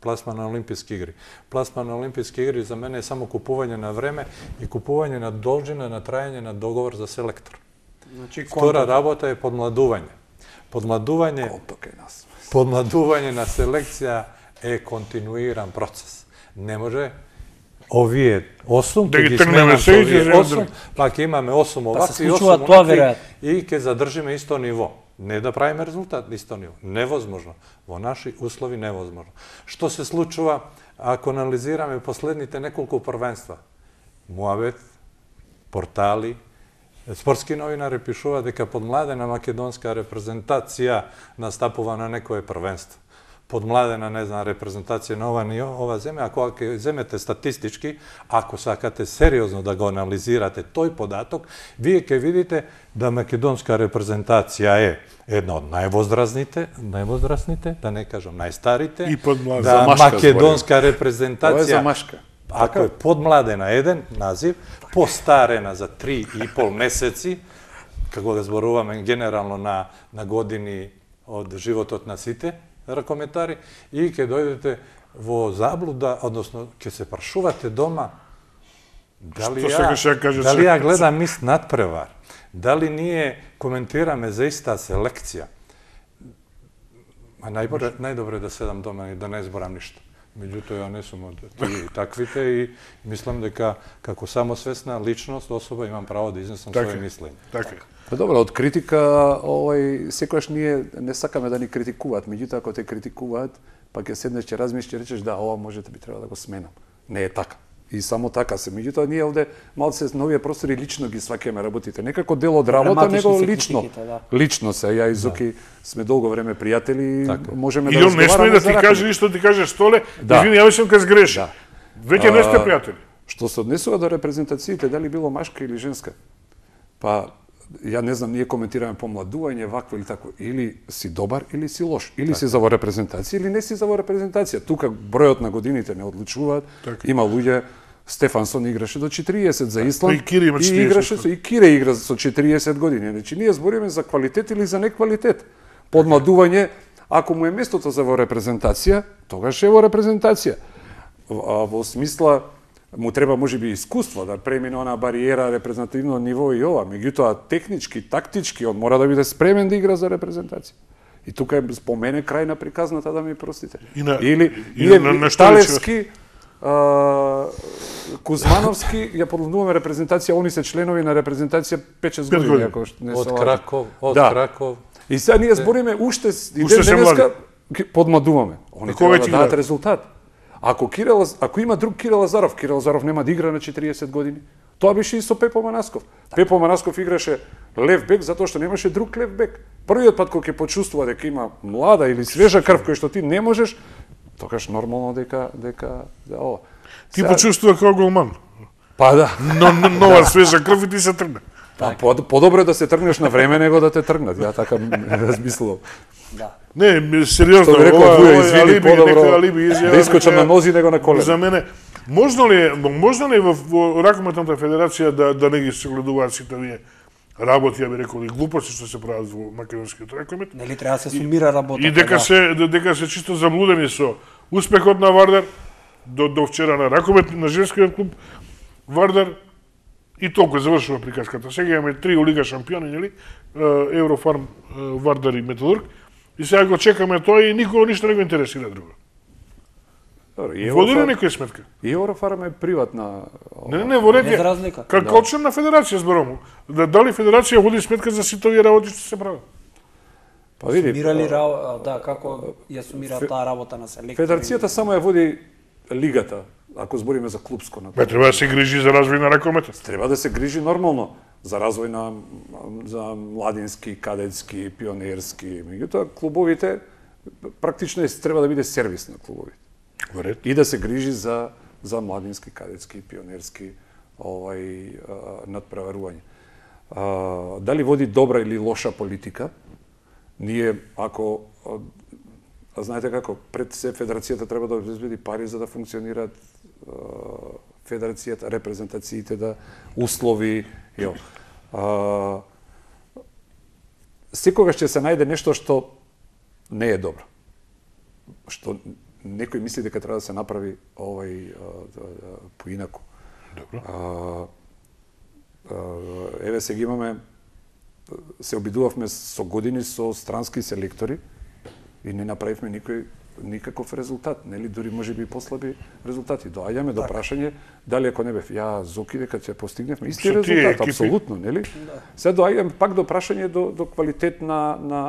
Пласма на Олимписки игри. Пласма на Олимписки игри за мене е само купување на време и купување на должина на трајање на договор за селектор.
Значи,
Втора работа е подмладување. Подмладување, подмладување на селекција е континуиран процес. Не може овие осум,
да
ќе
ги
ги
тргнеме
сменам
се
со
и
овие
ќе
осум, па ќе имаме осум
Па
овакви
се
и
случува
осум
тоа,
онакви
веројатно.
и ќе задржиме исто ниво. Не да правиме резултат исто ниво. Невозможно. Во наши услови невозможно. Што се случува ако анализираме последните неколку првенства? Муабет, портали, спортски новинари пишува дека подмладена македонска репрезентација настапува на некое првенство. Подмладена, не знам, репрезентација на ова, ова земја, ако ќе земете статистички, ако сакате сериозно да го анализирате тој податок, вие ќе видите да македонска репрезентација е една од највозрастните, највозрастните, да не кажам најстарите,
И подмладена.
да
За машка
македонска
Ова е
репрезентација,
за машка.
ако е подмладена еден назив, постарена за три и пол месеци, како да зборуваме генерално на, на години од животот на сите ракометари, и ќе дојдете во заблуда, односно ќе се прашувате дома дали
Што
ја,
сакаш да кажеш?
дали ја гледам мис надпревар, дали ние коментираме за иста селекција. А најдобре, најдобре да седам дома и да не зборам ништо. Меѓутоа, ја не сум од тие таквите и мислам дека како самосвесна личност, особа, имам право да изнесам
Така,
своје мислење.
така.
Па добро, од критика, овај, секогаш ние не сакаме да ни критикуваат, меѓутоа ако те критикуваат, па ќе седнеш, ќе размислиш, ќе речеш да, ова можете би треба да го сменам. Не е така. И само така се. Меѓутоа ние овде малце новија простори лично ги сваќаме работите. Некако дел од работа,
Проблематични
него
се
лично.
критиките, да.
Лично се, ја и Зоки сме долго време пријатели,
Така.
можеме
И
да
он не сме
разговараме
да
за
ти
ракометот.
каже ништо, ти каже Столе,
Да.
извини, ја сум кај сгреши.
Да.
Веќе не сте
А,
пријатели.
Што се однесува до репрезентациите, дали било машка или женска? Па, ја не знам, ние коментираме помладување, вакво или тако. Или си добар, или си лош. Или си за во репрезентација, или не си за во репрезентација. Тука бројот на годините не одличуваат.
Така.
Има луѓе, Стефансон играше до четириесет за Исланд.
И Кире има
и
четириесет.
играше со и Кире игра со четириесет години. Значи ние збориме за квалитет или за неквалитет. Подмладување, ако му е местото за во репрезентација, тогаш е во репрезентација. А во смисла му треба можеби искуство да премине она бариера репрезентативно ниво и ова, меѓутоа технички, тактички он мора да биде спремен да игра за репрезентација. И тука е спомене крај на приказната, да ми простите.
И на-
Или
и
ние
на- на што
Талевски, а, Кузмановски ја подладуваме репрезентација, они се членови на репрезентација пет-шест
Пет
години,
години.
ако не
Од
се лажам.
Краков, од
Да.
Краков.
И сега ние збориме уште с- и
Уште
ден
се
денеска ги подмладуваме. Они
А кога
треба
ќе
да дадат
играат?
резултат. Ако Кирил Лаз- ако има друг Кирил Лазаров, Кирил Лазаров нема да игра на четириесет години. Тоа беше и со Пепо Манасков. Пепо Манасков играше лев бек затоа што немаше друг лев бек. Првиот пат кога ќе почувствува дека има млада или свежа крв кој што ти не можеш, тогаш нормално дека дека да ова.
Ти
Сега-
почувствува како голман.
Па да.
Но, но нова свежа крв и ти се тргне.
Па, по- подобро е да се тргнеш на време него да те тргнат. Ја така размислувам.
Да.
Не, м, сериозно,
Што би рекол
ова,
Вуја,
ова е
извини,
алиби,
подобро
нека алиби изјава.
да искочам
нека-
на нози него на колено.
За мене, можно ли е, можно ли е во, во ракометната федерација да, да не ги согледуваат сите овие работи, ја би рекол, и глупости што се прават во македонскиот ракомет?
Нели треба да се сумира работата.
И дека
да.
се дека се чисто заблудени со успехот на Вардар до до вчера на ракомет на женскиот клуб Вардар и толку завршува приказката. Сега имаме три лига шампиони, нели? Е, Еврофарм, е, Вардар и Металург. И сега го чекаме тоа и никого ништо не го интересира друго.
Добро, и
Води ли
Еврофарм-
некоја сметка?
И Еврофарм е приватна.
Не, не, не, во ред
Без
е.
разлика.
Како член на федерација зборам. Да, дали федерација води сметка за сите овие работи што се прават?
Па види,
Сумирали ра- да, како ја сумира таа работа на селектори.
федерацијата само ја води лигата, ако збориме за клубско. На
Бе, треба да се грижи за развој на ракометот.
Треба да се грижи нормално за развој на за младински, кадетски, пионерски. Меѓутоа клубовите практично е треба да биде сервис на клубовите.
Во ред.
И да се грижи за за младински, кадетски, пионерски овај а, надпреварување. А, дали води добра или лоша политика? Ние ако а, а знаете како пред се федерацијата треба да обезбеди пари за да функционираат а, федерацијата, репрезентациите да услови, јо. А, секогаш ќе се најде нешто што не е добро. Што некој мисли дека треба да се направи овај поинаку.
Добро.
А, а, еве сега имаме, се обидувавме со години со странски селектори и не направивме никој никаков резултат, нели, дури можеби и послаби резултати. Доаѓаме до прашање дали ако не бев ја Зоки дека ќе постигневме исти
Со тие
резултат,
екипи?
апсолутно, нели? Да. Сега доаѓаме пак до прашање до до квалитет на на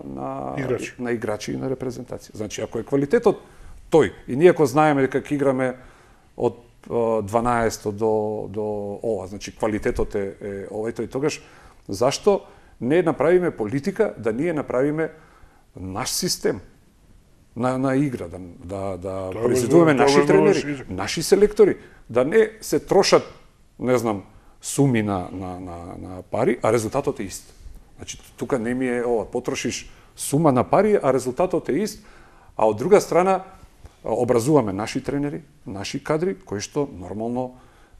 на
Играчи.
на играчи и на репрезентација. Значи ако е квалитетот тој и ние ако знаеме дека ќе играме од дванаесет до до ова, значи квалитетот е, е овој тој, тогаш зашто не направиме политика да ние направиме наш систем на на игра, да да да произведуваме наши тренери, наши селектори, да не се трошат, не знам, суми на на на на пари, а резултатот е ист. Значи тука не ми е ова, потрошиш сума на пари, а резултатот е ист, а од друга страна образуваме наши тренери, наши кадри кои што нормално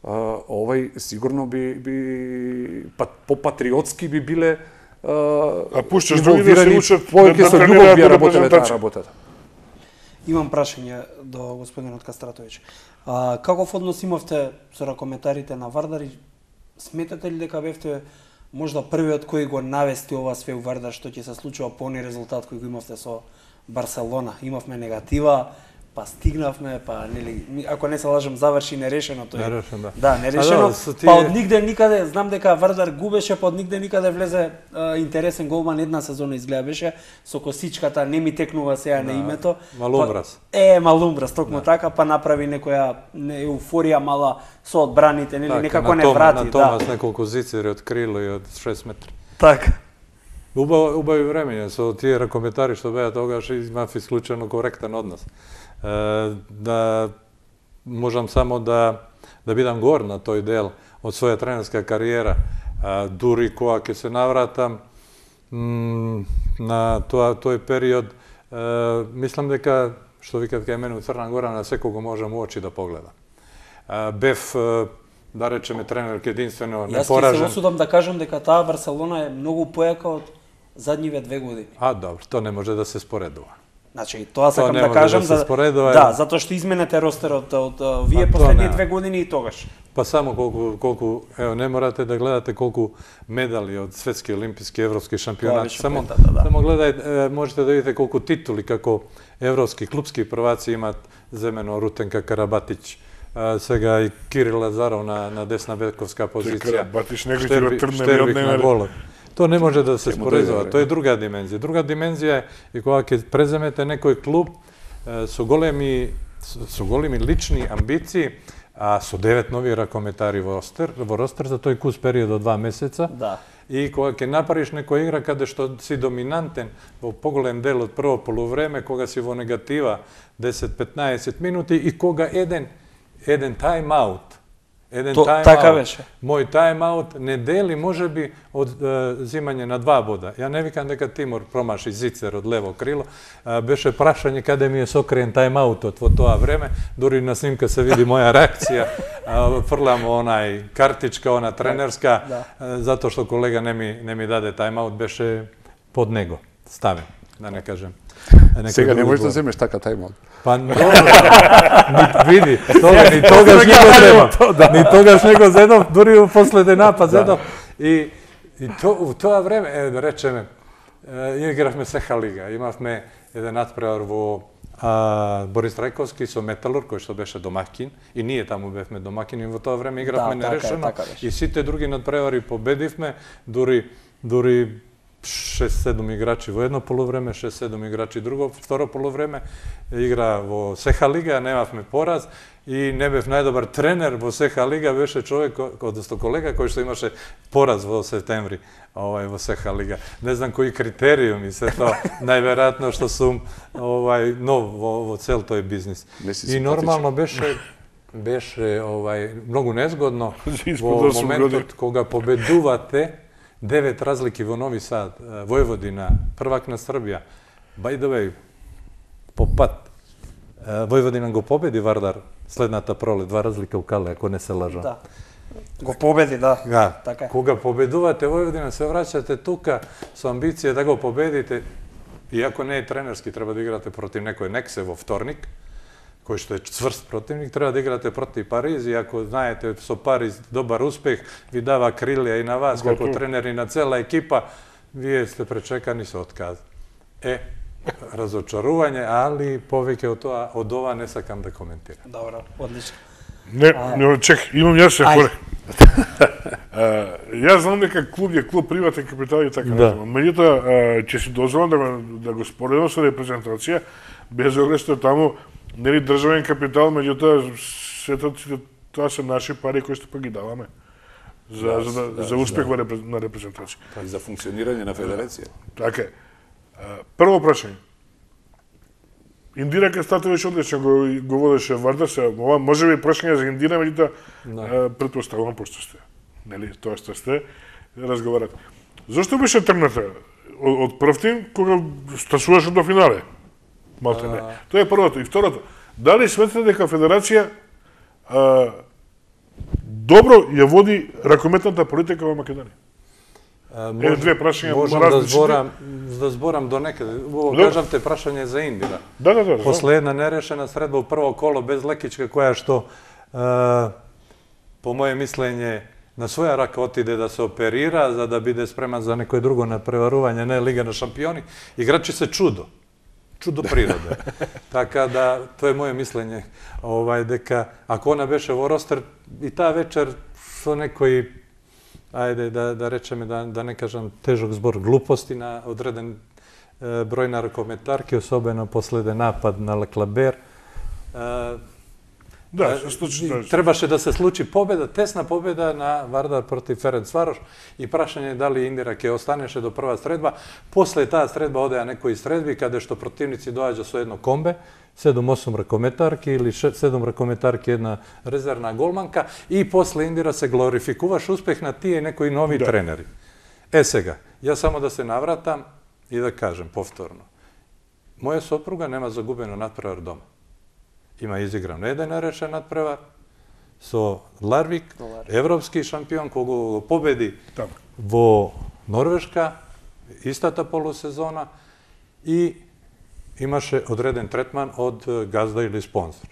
овај сигурно би би по патриотски би биле
а пушташ други да се учат
повеќе со љубов би работеле таа работата.
Имам прашање до господинот Кастратовиќ. А, каков однос имавте со ракометарите на Вардар и сметате ли дека бевте можда првиот кој го навести ова све у Вардар што ќе се случува по оној резултат кој го имавте со Барселона? Имавме негатива, па стигнавме, па нели, ако не се лажам, заврши нерешено тој.
Нерешено, да.
Да, нерешено.
Да, да, тие...
Па од нигде никаде, знам дека Вардар губеше, па од нигде никаде влезе а, интересен голман, една сезона изгледа беше со косичката, не ми текнува сега да, на името.
Малумбрас.
Па, е, Малумбрас, токму да. Така, па направи некоја не, еуфорија мала со одбраните, нели, така, некако не врати.
На Томас да. Неколку зицери од крило и од шест метри.
Така.
Убави, убави времења со тие ракометари што беа тогаш имав исклучено коректен однос. Да можам само да да бидам гор на тој дел од своја тренерска кариера, дури кога ќе се навратам на тоа тој период, мислам дека што викат кај мене у Црна Гора на секого можам у очи да погледам. Бев да речеме тренер единствено непоражен.
Јас ќе се осудам да кажам дека таа Барселона е многу појака од задниве две години.
А, добро, тоа не може да се споредува.
Значи, тоа сакам да кажам
да,
за
споредува,
да, затоа што изменете ростерот од, од вие последни две години и тогаш.
Па само колку колку ево не морате да гледате колку медали од светски, олимписки, европски шампионати. Само
пента, да, да.
само гледајте, можете да видите колку титули како европски клупски прваци имаат земено Рутенка Карабатич, сега и Кирил Лазаров на на десна бековска позиција.
Карабатич некој ќе го трне од
него. Тоа не може да се споредува, тоа е друга димензија. Друга димензија е и кога ќе преземете некој клуб со големи со големи лични амбиции, а со девет нови ракометари во ростер, во ростер за тој кус период од два месеца.
Да.
И кога ќе направиш некоја игра каде што си доминантен во поголем дел од прво полувреме, кога си во негатива десет-петнаесет минути и кога еден еден тајм-аут Еден
То,
тајм
така беше.
Мој тајм-аут не дели можеби од е, зимање на два бода. Ја не викам дека Тимур промаши зицер од лево крило. Е, беше прашање каде ми е сокриен тајм-аутот во тоа време. Дури на снимка се види моја реакција. Е, фрлам онај картичка, она тренерска, да. е, затоа што колега не ми, не ми даде тајм-аут, беше под него ставен, да не кажем.
Сега не можеш да земеш така тајм-аут.
Па, ни, види, тога, ни тогаш не го земав, ни тогаш не го зедов, дури у последен напад зедов. И, и то, у тоа време, е, да речеме, е, игравме Сеха лига, имавме еден надпревар во а, Борис Трајковски со Металур, кој што беше домакин, и ние таму бевме домакини, во тоа време игравме
да,
нерешено,
така, така
и сите други надпревари победивме, дури, дури шест-седум играчи во едно полувреме, шест-седум играчи друго, второ полувреме, игра во Сеха лига, немавме пораз и не бев најдобар тренер во Сеха лига, беше човек, одnosno колега кој што имаше пораз во септември овај во Сеха лига. Не знам кои критериуми се тоа, најверојатно што сум овај нов во, во цел тој бизнис. И нормално беше беше овај многу незгодно во моментот кога победувате девет разлики во Нови Сад, Војводина, првак на Србија, by the way, по пат, Војводина го победи Вардар следната пролет, два разлика у Кале, ако не се лажам.
Да. Го победи, да.
Да.
Така е.
Кога победувате Војводина, се враќате тука со амбиција да го победите, иако не е тренерски, треба да играте против некој Нексе во вторник, кој што е цврст противник, треба да играте против Париз, и ако знаете со Париз добар успех, ви дава крилја и на вас, како тренер и на цела екипа, вие сте пречекани со отказ. Е, разочарување, али повеќе од тоа, од ова не сакам да коментирам.
Добро, одлично.
Не, не, чек, имам јас се хоре. Јас знам дека клуб е клуб приватен капитал и така
Да.
натаму. Меѓутоа, ќе си дозволам да го, да го споредам со репрезентација, без оглед што таму нели државен капитал, меѓутоа сето тоа се наши пари кои што па ги даваме за
Да,
за, да,
да,
за успех во репрез- на репрезентација.
И за функционирање на федерација.
Така е. А, Прво прашање. Индира Кастатович одлично го, го водеше Вардар, се ова може би прашање за Индира, меѓутоа да. претпоставувам пошто сте. Нели, тоа што сте разговарате. Зошто беше тргната од, од прв тим кога стасуваше до финале? Малте не. Тоа е првото. И второто, дали сметате дека Федерација а, добро ја води ракометната политика во Македонија? Е, две прашања
можам да
различни.
зборам, да зборам до некаде. Во
Да.
кажавте прашање за Индира.
Да, да, да. знам.
После една нерешена средба у прво коло без лекичка, која што, е, по моje мислење, на своја рака отиде да се оперира, за да биде спреман за некој друго надпреварување, не Лига на шампиони, играчи се чудо. Чудо природа. Така да, тоа е моje мислење, овај, дека ако она беше во ростер, и таа вечер со некој, ајде да, да речеме, да, да не кажам тежок збор, глупости на одреден е, број на ракометарки, особено последен напад на Леклабер. Е,
Да, се случи тоа.
Требаше да се случи победа, тесна победа на Вардар против Ференцварош, и прашање дали Индира ќе останеше до прва средба. После таа средба одеа некои средби каде што противници доаѓа со едно комбе, седум-осум ракометарки или седум ракометарки една резервна голманка, и после Индира се глорификуваш успех на тие некои нови
Да.
тренери. Е сега, ја само да се навратам и да кажем повторно. Моја сопруга нема загубено надпревар дома. Има изигран еден нерешен надпревар со Ларвик, европски шампион, кога го победи
Таму.
во Норвешка, истата полусезона, и имаше одреден третман од газда или спонсор.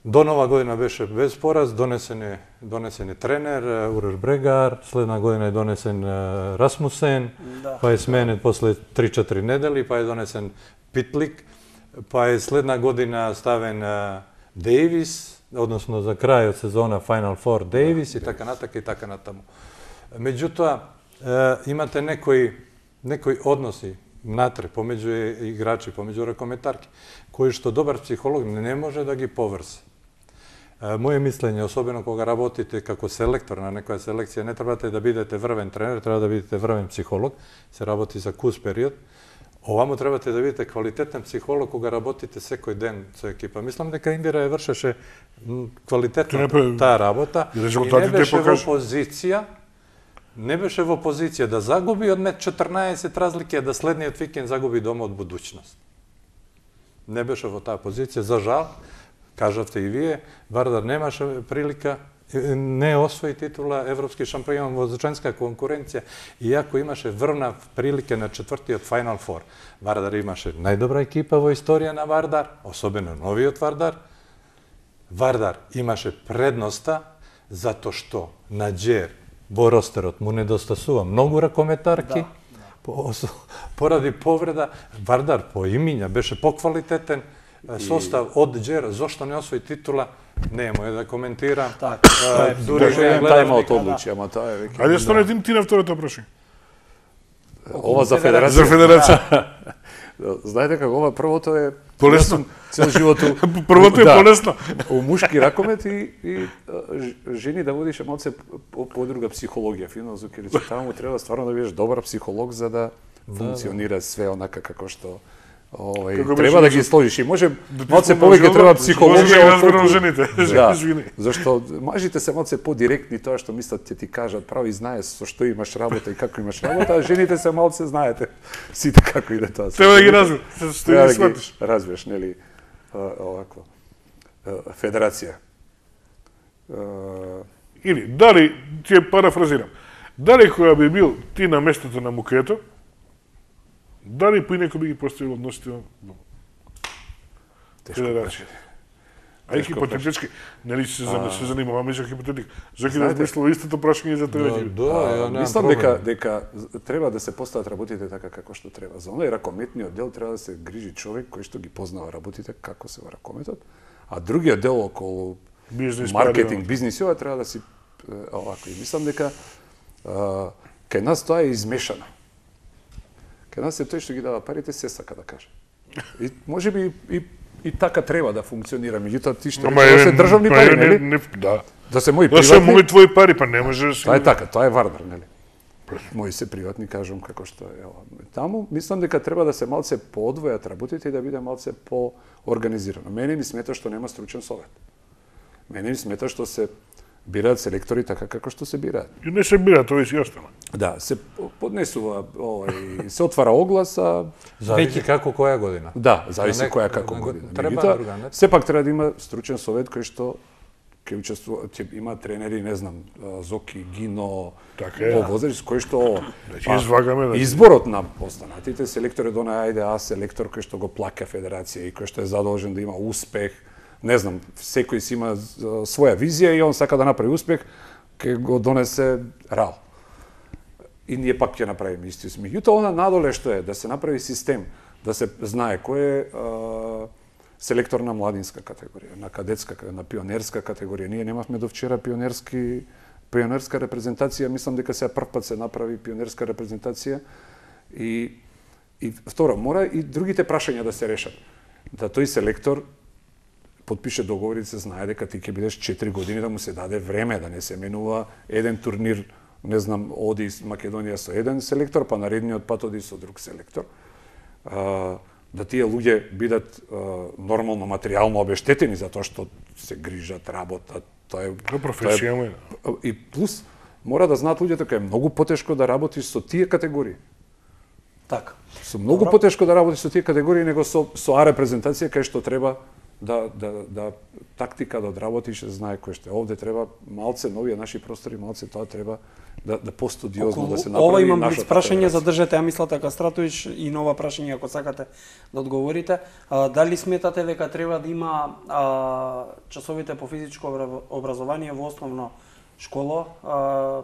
До нова година беше без пораз, донесен е, донесен е тренер Уреш Брегар, следна година е донесен е, Расмусен,
Да.
па е сменен после три-четири недели, па е донесен Питлик, па е следна година ставен е, Дейвис, односно за крајот сезона Final Four Дейвис, и така натака и така натаму. Меѓутоа, е, имате некои, некои односи натре, помеѓу играчи, помеѓу ракометарки, кои што добар психолог не може да ги поврзе. Моје мислење, особено кога работите како селектор на некоја селекција, не требате да бидете врвен тренер, треба да бидете врвен психолог, се работи за кус период. Овамо требате да бидете квалитетен психолог кога работите секој ден со екипа. Мислам дека Индира ја вршеше квалитетно
Требе-
таа работа
и
и не
резултатите
беше во
покажа.
позиција не беше во позиција да загуби од мет четрнаесет разлики, а да следниот викенд загуби дома од Будуќност. Не беше во таа позиција, за жал, кажавте и вие, Вардар немаше прилика, не освои титула европски шампион во женска конкуренција, иако имаше врна прилика на четвртиот Final Four. Вардар имаше најдобра екипа во историја на Вардар, особено новиот Вардар. Вардар имаше предноста затоа што на Џер во ростерот му недостасува многу ракометарки, по, поради повреда. Вардар по имиња беше поквалитетен, состав од Џер, зошто не освои титула, не мој да коментирам.
Така.
А, дури
Дури
го ја
еден
гледав
тајм-аут
некаде.
одлучи, ама тоа е веќе.
Ајде станете ти на второто прашање.
Ова за
За
федерација.
федерација.
Знаете како ова првото е
Полесно.
Јас сум цел живот у-
Првото е
Да.
полесно.
у мушки ракомет и, и а, ж- жени да водише малце по, по друга психологија, фино зукерици. Таму треба стварно да бидеш добар психолог за да функционира све онака како што Овај,
Како
треба
беше
да ги сложиш и може
Да ти
малце
спомнам
повеќе
жена,
треба
може да
психологија
ги разберам
отколку-
жените.
Да,
Извини.
зашто мажите се малце подиректни тоа што мислат ќе ти кажат право и знаеш со што имаш работа и како имаш работа, а жените се малце знаете сите како иде тоа.
Треба да ги разбереш, се
Треба
да
да
ги сватиш.
ги разбереш, нели, а, овакво. А, Федерација. А,
Или, дали, ќе парафразирам, дали која би бил ти на местото на Мукето, дали по некој би ги поставил односите во
Тешко
Федерација? А и
Тешко
хипотетички, нели се, а... се занимаваме со хипотетика. Зоки да
Знаете-
пошло истото прашање и за тебе.
Да,
ќе-
да, ја немам
Мислам
проблем.
дека дека треба да се постават работите така како што треба. За оној ракометниот дел треба да се грижи човек кој што ги познава работите како се во ракометот, а другиот дел околу
Бизнес,
маркетинг,
пари,
бизнис, ова треба да си е, овако. И мислам дека а, кај нас тоа е измешано. Кај нас е тој што ги дава парите се сака да каже. И може би и и така треба да функционира, меѓутоа ти што
Ама
рече, да
е,
се државни
па
пари,
е, не-
нели?
не- Да.
Да се мои
Да се
приватни.
мои твои пари, па не може да се...
Тоа е така, тоа е Вардар, нели? Мои се приватни, кажам како што е. ова. Таму мислам дека треба да се малце поодвојат работите и да биде малце поорганизирано. Мене ми смета што нема стручен совет. Мене ми смета што се бираат селектори така како што се бираат.
И не се бира, тоа и си остана.
Да, се поднесува, овај, се отвара оглас, а
Зависи како која година.
да, зависи
На нек-
која како
на-
година.
треба
Меѓутоа,
орган,
сепак треба да има стручен совет кој што ќе учествува, ќе има тренери, не знам, а, Зоки, Гино,
Така е.
Овозач, кој што
Да ќе извагаме, да.
изборот на останатите селектори до ајде а селектор кој што го плаќа федерација и кој што е задолжен да има успех, не знам, секој си има а, своја визија и он сака да направи успех, ќе го донесе рал. И ние пак ќе направиме исти. Меѓутоа, она надоле што е, да се направи систем, да се знае кој е а, селектор на младинска категорија, на кадетска, на пионерска категорија. Ние немавме до вчера пионерски пионерска репрезентација, мислам дека сега прв пат се направи пионерска репрезентација и и второ, мора и другите прашања да се решат. Да тој селектор потпише договор и се знае дека ти ќе бидеш четири години, да му се даде време, да не се менува еден турнир, не знам, оди Македонија со еден селектор, па наредниот пат оди со друг селектор. А, да тие луѓе бидат а, нормално материјално обештетени за тоа што се грижат, работат, тоа е
Тоа професија му е.
и плюс мора да знаат луѓето дека е многу потешко да работиш со тие категории.
Така.
Со многу
Добро.
потешко да работиш со тие категории него со со А репрезентација кај што треба да да да тактика да одработиш, да знае кој што е. Овде треба малце новија наши простори, малце тоа треба да да постудиозно да се направи.
Ова имам блиц
нашата
прашање,
федерација.
задржете ја мислата Кастратович и нова прашање ако сакате да одговорите. А, дали сметате дека треба да има а, часовите по физичко обра- образование во основно школа, а,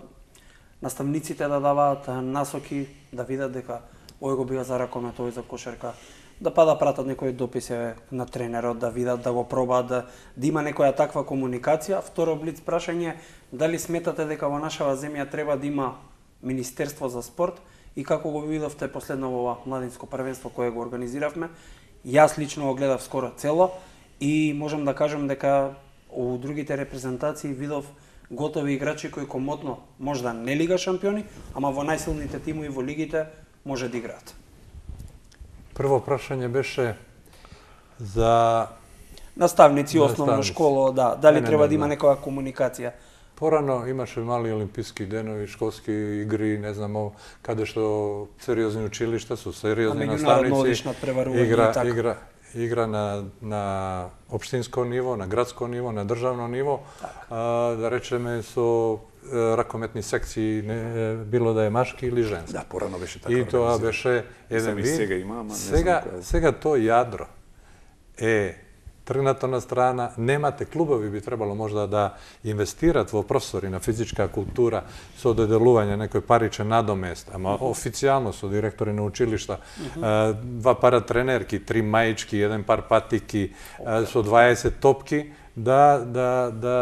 наставниците да даваат насоки, да видат дека ој го бива за ракомет, ој за кошарка, да па да пратат некои дописи на тренерот, да видат, да го пробаат, да, да има некоја таква комуникација. Второ блиц прашање, дали сметате дека во нашава земја треба да има Министерство за спорт и како го видовте последно во ова младинско првенство кое го организиравме? Јас лично го гледав скоро цело и можам да кажам дека у другите репрезентации видов готови играчи кои комотно можда не лига шампиони, ама во најсилните тимови во лигите може да играат.
Прво прашање беше за
Наставници, основно
Наставници.
школа, да, дали
Не, не,
треба
не,
да има
да.
некоја комуникација.
порано имаше мали олимписки денови, школски игри, не знам, ово, каде што сериозни училишта со сериозни
А меѓународно
наставници.
одиш надпреварување и
игра,
така.
игра, игра на, на општинско ниво, на градско ниво, на државно ниво, а, да речеме со е, ракометни секции, не, било да е машки или женски.
Да, порано беше така.
И тоа
организирано.
беше еден
Знам и
вид.
сега има, ама не
сега,
знам која е.
сега тоа јадро е тргнато на страна, немате клубови би требало можда да инвестират во простори на физичка култура со доделување некој паричен надомест, ама официјално со директори на училишта, а, два пара тренерки, три маички, еден пар патики, а, со дваесет топки, да, да, да,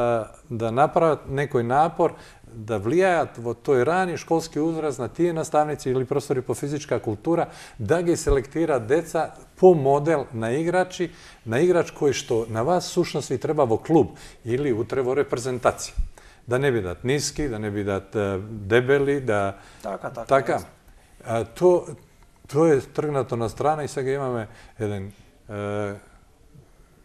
да направат некој напор да влијаат во тој рани школски uzrast на тие наставници или простори по физичка култура, да ги селектираат деца по модел на играчи, на играч кој што на вас сушност ви треба во клуб или утре во репрезентација. Да не бидат ниски, да не бидат е, дебели, да...
Така, така.
Така. А, то, Тоа е тргнато на страна и сега имаме еден е,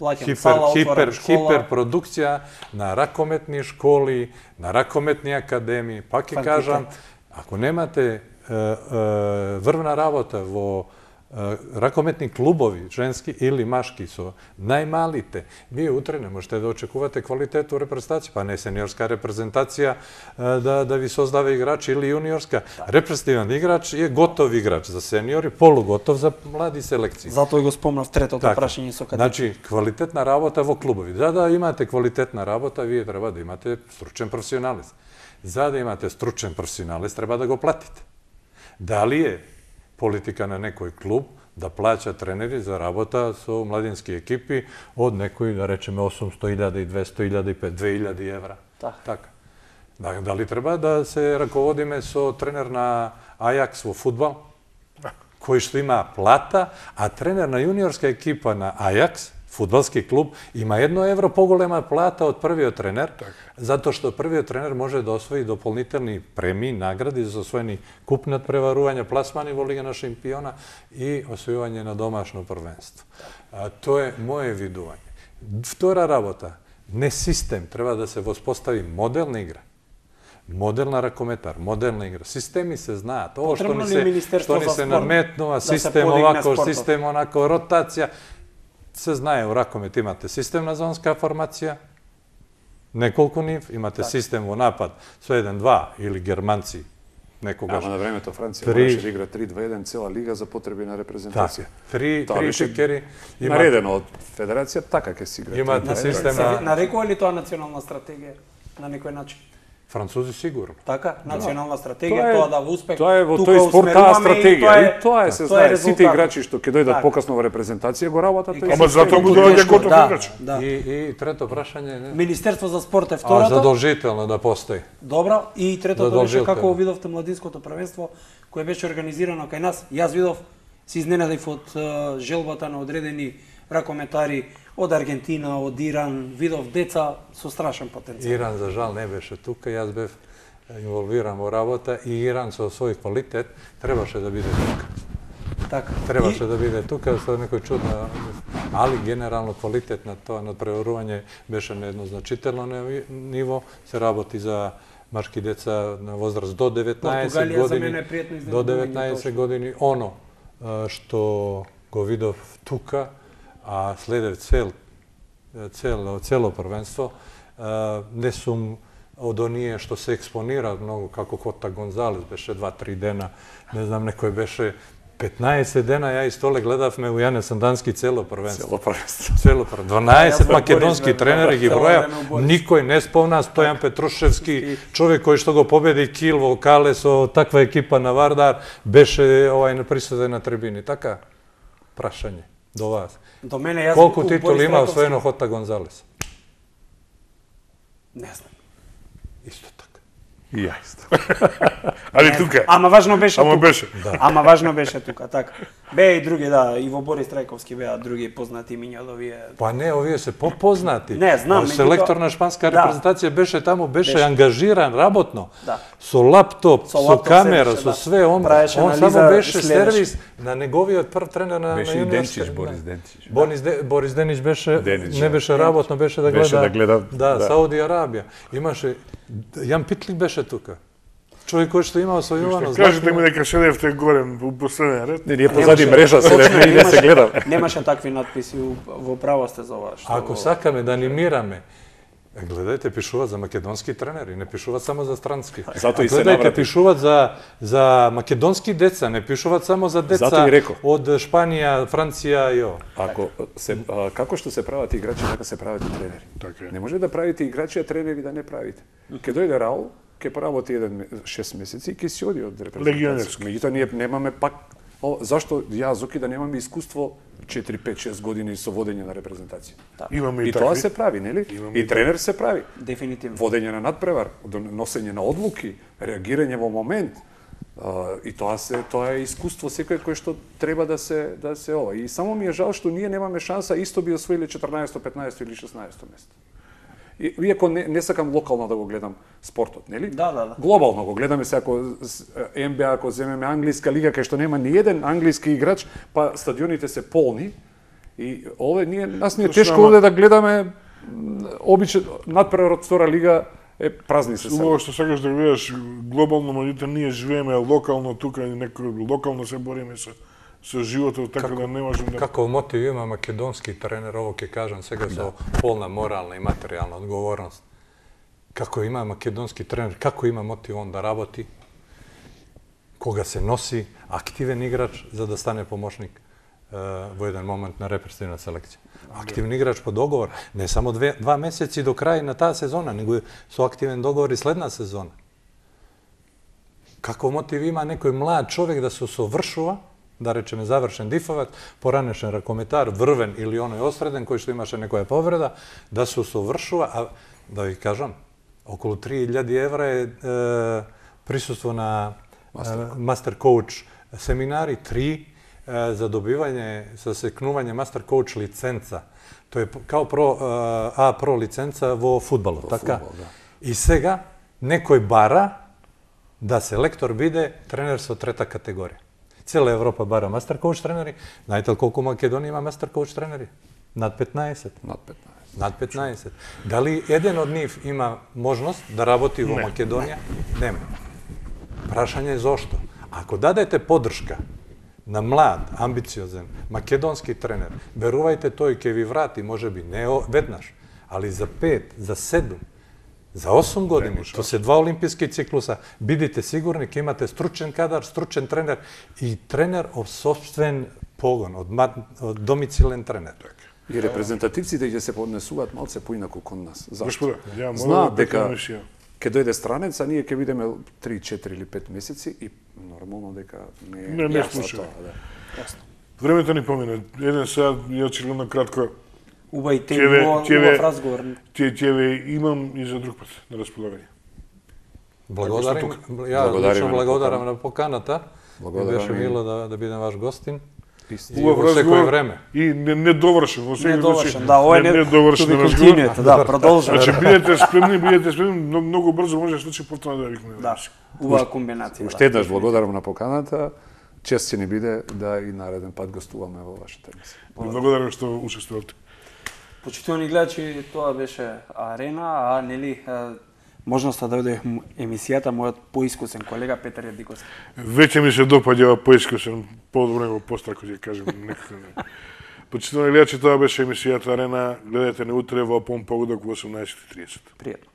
Плаќам
хипер,
сала,
хипер,
отворам школа.
хиперпродукција на ракометни школи, на ракометни академии. Пак ќе кажам, ако немате е, е, врвна работа во е, ракометни клубови, женски или машки, со најмалите, вие утре не можете да очекувате квалитет у репрезентација, па не сениорска репрезентација е, да, да ви создава играч или јуниорска. Репрезентативен играч е готов играч за сениори, полуготов за млади селекции.
Затоа го спомнав третото
Така.
прашање со кадети.
Значи, квалитетна работа во клубови. За да имате квалитетна работа, вие треба да имате стручен професионалист. За да имате стручен професионалист, треба да го платите. Дали е политика на некој клуб да плаќа тренери за работа со младински екипи од некои, да речеме, осумсто илјади, двесто илјади, две илјади евра.
Така.
Така. Да, дали треба да се раководиме со тренер на Ајакс во фудбал, кој што има плата, а тренер на јуниорска екипа на Ајакс, фудбалски клуб, има едно евро поголема плата од првиот тренер,
така.
затоа што првиот тренер може да освои дополнителни премии, награди за освоени купни надпреварувања, пласмани во Лига на шампиона и освојување на домашно првенство. А, тоа е моје видување. Втора работа, не систем, треба да се воспостави моделна игра. Моделна ракометар, моделна игра. Системи се знаат. Ово што ни се, што ни се наметнува,
да
систем овако, систем онако, ротација. Се знае, у ракомет имате системна зонска формација, неколку нив, имате так. Систем во напад со еден-два или германци некогаш.
Ама на времето Франција
три...
можеше да игра три два еден цела лига за потреби на репрезентација.
Три, три шекери.
Има... Наредено од Федерација, така ќе си игра.
Имате систем
Се
на...
нарекува ли тоа национална стратегија на некој начин?
Французи сигурно.
Така, национална стратегија,
Тоа е-
тоа да во успех.
Тоа е во
тука
тој спорт таа
усмеруваме и
стратегија.
тоа е-
И тоа е, се
тоа е
знае,
резултат.
сите играчи што ќе дојдат
Така.
покасно во репрезентација го работат тој
Ама
систем.
затоа му
Колку
доаѓа
тешко,
готов
да,
играч.
да.
И, и трето прашање не.
Министерство за спорт е
А
втората.
задолжително да постои.
Добро, и третото беше
Задолжително.
како видовте младинското првенство кое беше организирано кај нас. Јас видов, се изненадив од е, желбата на одредени ракометари од Аргентина, од Иран, видов деца со страшен потенцијал.
Иран за жал не беше тука, јас бев инволвиран во работа и Иран со свој квалитет требаше да биде тука.
Така.
Требаше
И-
да биде тука со некој чудна, али генерално квалитет на тоа надпреварување беше на едно значително неви- ниво, се работи за машки деца на возраст до деветнаесет
Португалија за
години.
мене е пријатно
До
изненадување,
деветнаесет
точно.
години оно а, што го видов тука, а следев цел цело цело првенство, а, не сум од оние што се експонира многу, како Кота Гонзалес беше два-три дена, не знам, некој беше петнаесет дена, ја и Столе гледавме у Јане Сандански цело првенство.
Цело првенство.
Цело првенство. дванаесет
Јас
македонски
Борис,
тренери ги
цело
броја,
време у Борис.
никој не спомна Стојан Петрушевски, човек кој што го победи Кил во Кале со таква екипа на Вардар, беше овај присутен на трибини. Така, прашање до вас.
До мене јас
Колку
у
титули
Борис
има
Раковски-
освоено Хота Гонзалес?
Не знам.
Исто така.
И ја исто. Али тука.
Ама важно беше
Ама
тука.
беше.
Ама важно беше тука, така. Беа и други, да, и во Борис Трајковски беа други познати имиња од овие.
Па не, овие се попознати.
Не, знам,
А
меѓутоа-
селектор на шпанска
Да.
репрезентација беше таму, беше,
Беше.
ангажиран работно.
Да.
Со лаптоп,
Со
со,
лаптоп
камера,
седеше,
со
да.
све, он,
Правеше
он
анализа,
само беше
следеше.
сервис на неговиот прв тренер на
Беше
на
и
јуниорска-
Денчич,
да.
Борис Денчич.
Борис, Де, Борис Денич беше,
Денич,
не
да.
беше работно, беше да гледа,
Беше да гледа,
да,
да.
Сауди Арабија. Имаше, Јан Питлик беше тука. Човек кој што има освојувано.
Кажете ми дека седевте горе у последен ред.
Не, ние позади мрежа се
Точно,
не не се
немаше-
гледа.
Немаше такви надписи, у- во право сте за ова. Што...
Ако сакаме да анимираме, гледајте, пишуваат за македонски тренери, не пишуваат само за странски.
Затоа
А
и се
гледајте,
наврати.
пишуваат за за македонски деца, не пишуваат само за деца
Затоа и реков.
од Шпанија, Франција и о.
Ако се а, како што се прават играчи, така се прават и тренери.
Така е.
Не може да правите играчи, а тренери да не правите. Ке дојде Раул, ке поработи еден ме- шест месеци и ке си оди од репрезентација.
Легионерски.
Меѓутоа ние немаме пак О, зашто ја Зоки да немаме искуство четири пет шест години со водење на репрезентација?
Имаме и,
И тоа
такви.
се прави, нели?
Имаме
И
и
тренер се прави.
Дефинитивно.
Водење на надпревар, носење на одлуки, реагирање во момент. А, и тоа се тоа е искуство секој кој што треба да се да се ова. И само ми е жал што ние немаме шанса, исто би освоиле четрнаесетто, петнаесетто или шеснаесетто место. И, иако не, не сакам локално да го гледам спортот, нели?
Да, да, да.
Глобално го гледаме се ако Н Б А, ако земеме англиска лига кај што нема ни еден англиски играч, па стадионите се полни. И овде ние нас не е
Точно,
тешко
ама-
овде да гледаме обичен надпревар од втора лига е празни се
Убаво
сега.
што сакаш да гледаш глобално, меѓутоа ние живееме локално тука и некој локално се бориме со со животот, така да не можем да...
Каков мотив има македонски тренер, ово ќе кажам сега со полна морална и материјална одговорност. Како има македонски тренер, како има мотив он да работи, кога се носи активен играч за да стане помошник е, во еден момент на репрезентативна селекција. Активен играч по договор, не само две, два месеци до крај на таа сезона, него и со активен договор и следна сезона. Како мотив има некој млад човек да се усовршува, да речеме завршен дифовец, поранешен ракометар, врвен или оној осреден кој што имаше некоја повреда, да се усовршува, а да ви кажам, околу три илјади евра е, е присуство на мастер коуч семинари, три е, за добивање, за секнување мастер коуч лиценца. Тоа е као про, А про лиценца во фудбалот, така?
фудбал, да.
И сега некој бара да селектор биде тренер со трета категорија. Цела Европа бара мастер коуч тренери. Знаете ли колку Македонија има мастер коуч тренери? Над петнаесет.
Над петнаесет.
Над петнаесет. Дали еден од нив има можност да работи во Македонија? Нема. Прашање е зошто. Ако дадете поддршка на млад, амбициозен, македонски тренер, верувајте тој ќе ви врати, можеби не веднаш, али за пет, за седум, за осум години, тоа се два олимписки циклуса, бидите сигурни ќе имате стручен кадар, стручен тренер и тренер од собствен погон, од, од домицилен тренер.
И репрезентативците ќе се поднесуваат малце поинаку кон нас. Зашто?
Господа, ја
Знаат
мора да
дека
дека емисија.
ќе дојде странец, а ние ќе видиме три, четири или пет месеци и нормално дека не е
Не, не
јасно
слушај.
тоа, да. Јасно.
Времето ни помина. Еден сад, ја очигледно кратко,
Убај
Ќе ве-
тема,
ќе ве-
убав разговор.
ќе ќе ве имам и за друг пат на располагање.
Благодарим,
Ако
ја
Благодариме
лично
на
благодарам
поканата.
на поканата.
Благодарам
Беше
и-
мило да, да бидем ваш гостин.
Истина.
И во секој време.
И не, не довршен, во секој
Недовршен,
случај.
да, ова е
не,
не,
не довршен
to be
разговор.
continued, да, продолжуваме.
Значи бидете спремни, бидете спремни, многу, многу брзо може да случи повторно да викнеме.
Да, убава комбинација.
Уште еднаш благодарам на поканата. Чест ќе ни биде да и нареден пат гостуваме во вашата емисија.
Ви благодарам што учествувавте.
Почитувани гледачи, тоа беше Арена, а нели е, можноста да дојде м- емисијата мојот поискусен колега Петар Јадиковски.
Веќе ми се допаѓа поискусен, подобро него пострако ќе кажем некако. Почитувани гледачи, тоа беше емисијата Арена. Гледате не утре во Пон Погодок во осумнаесет и тридесет.
Пријатно.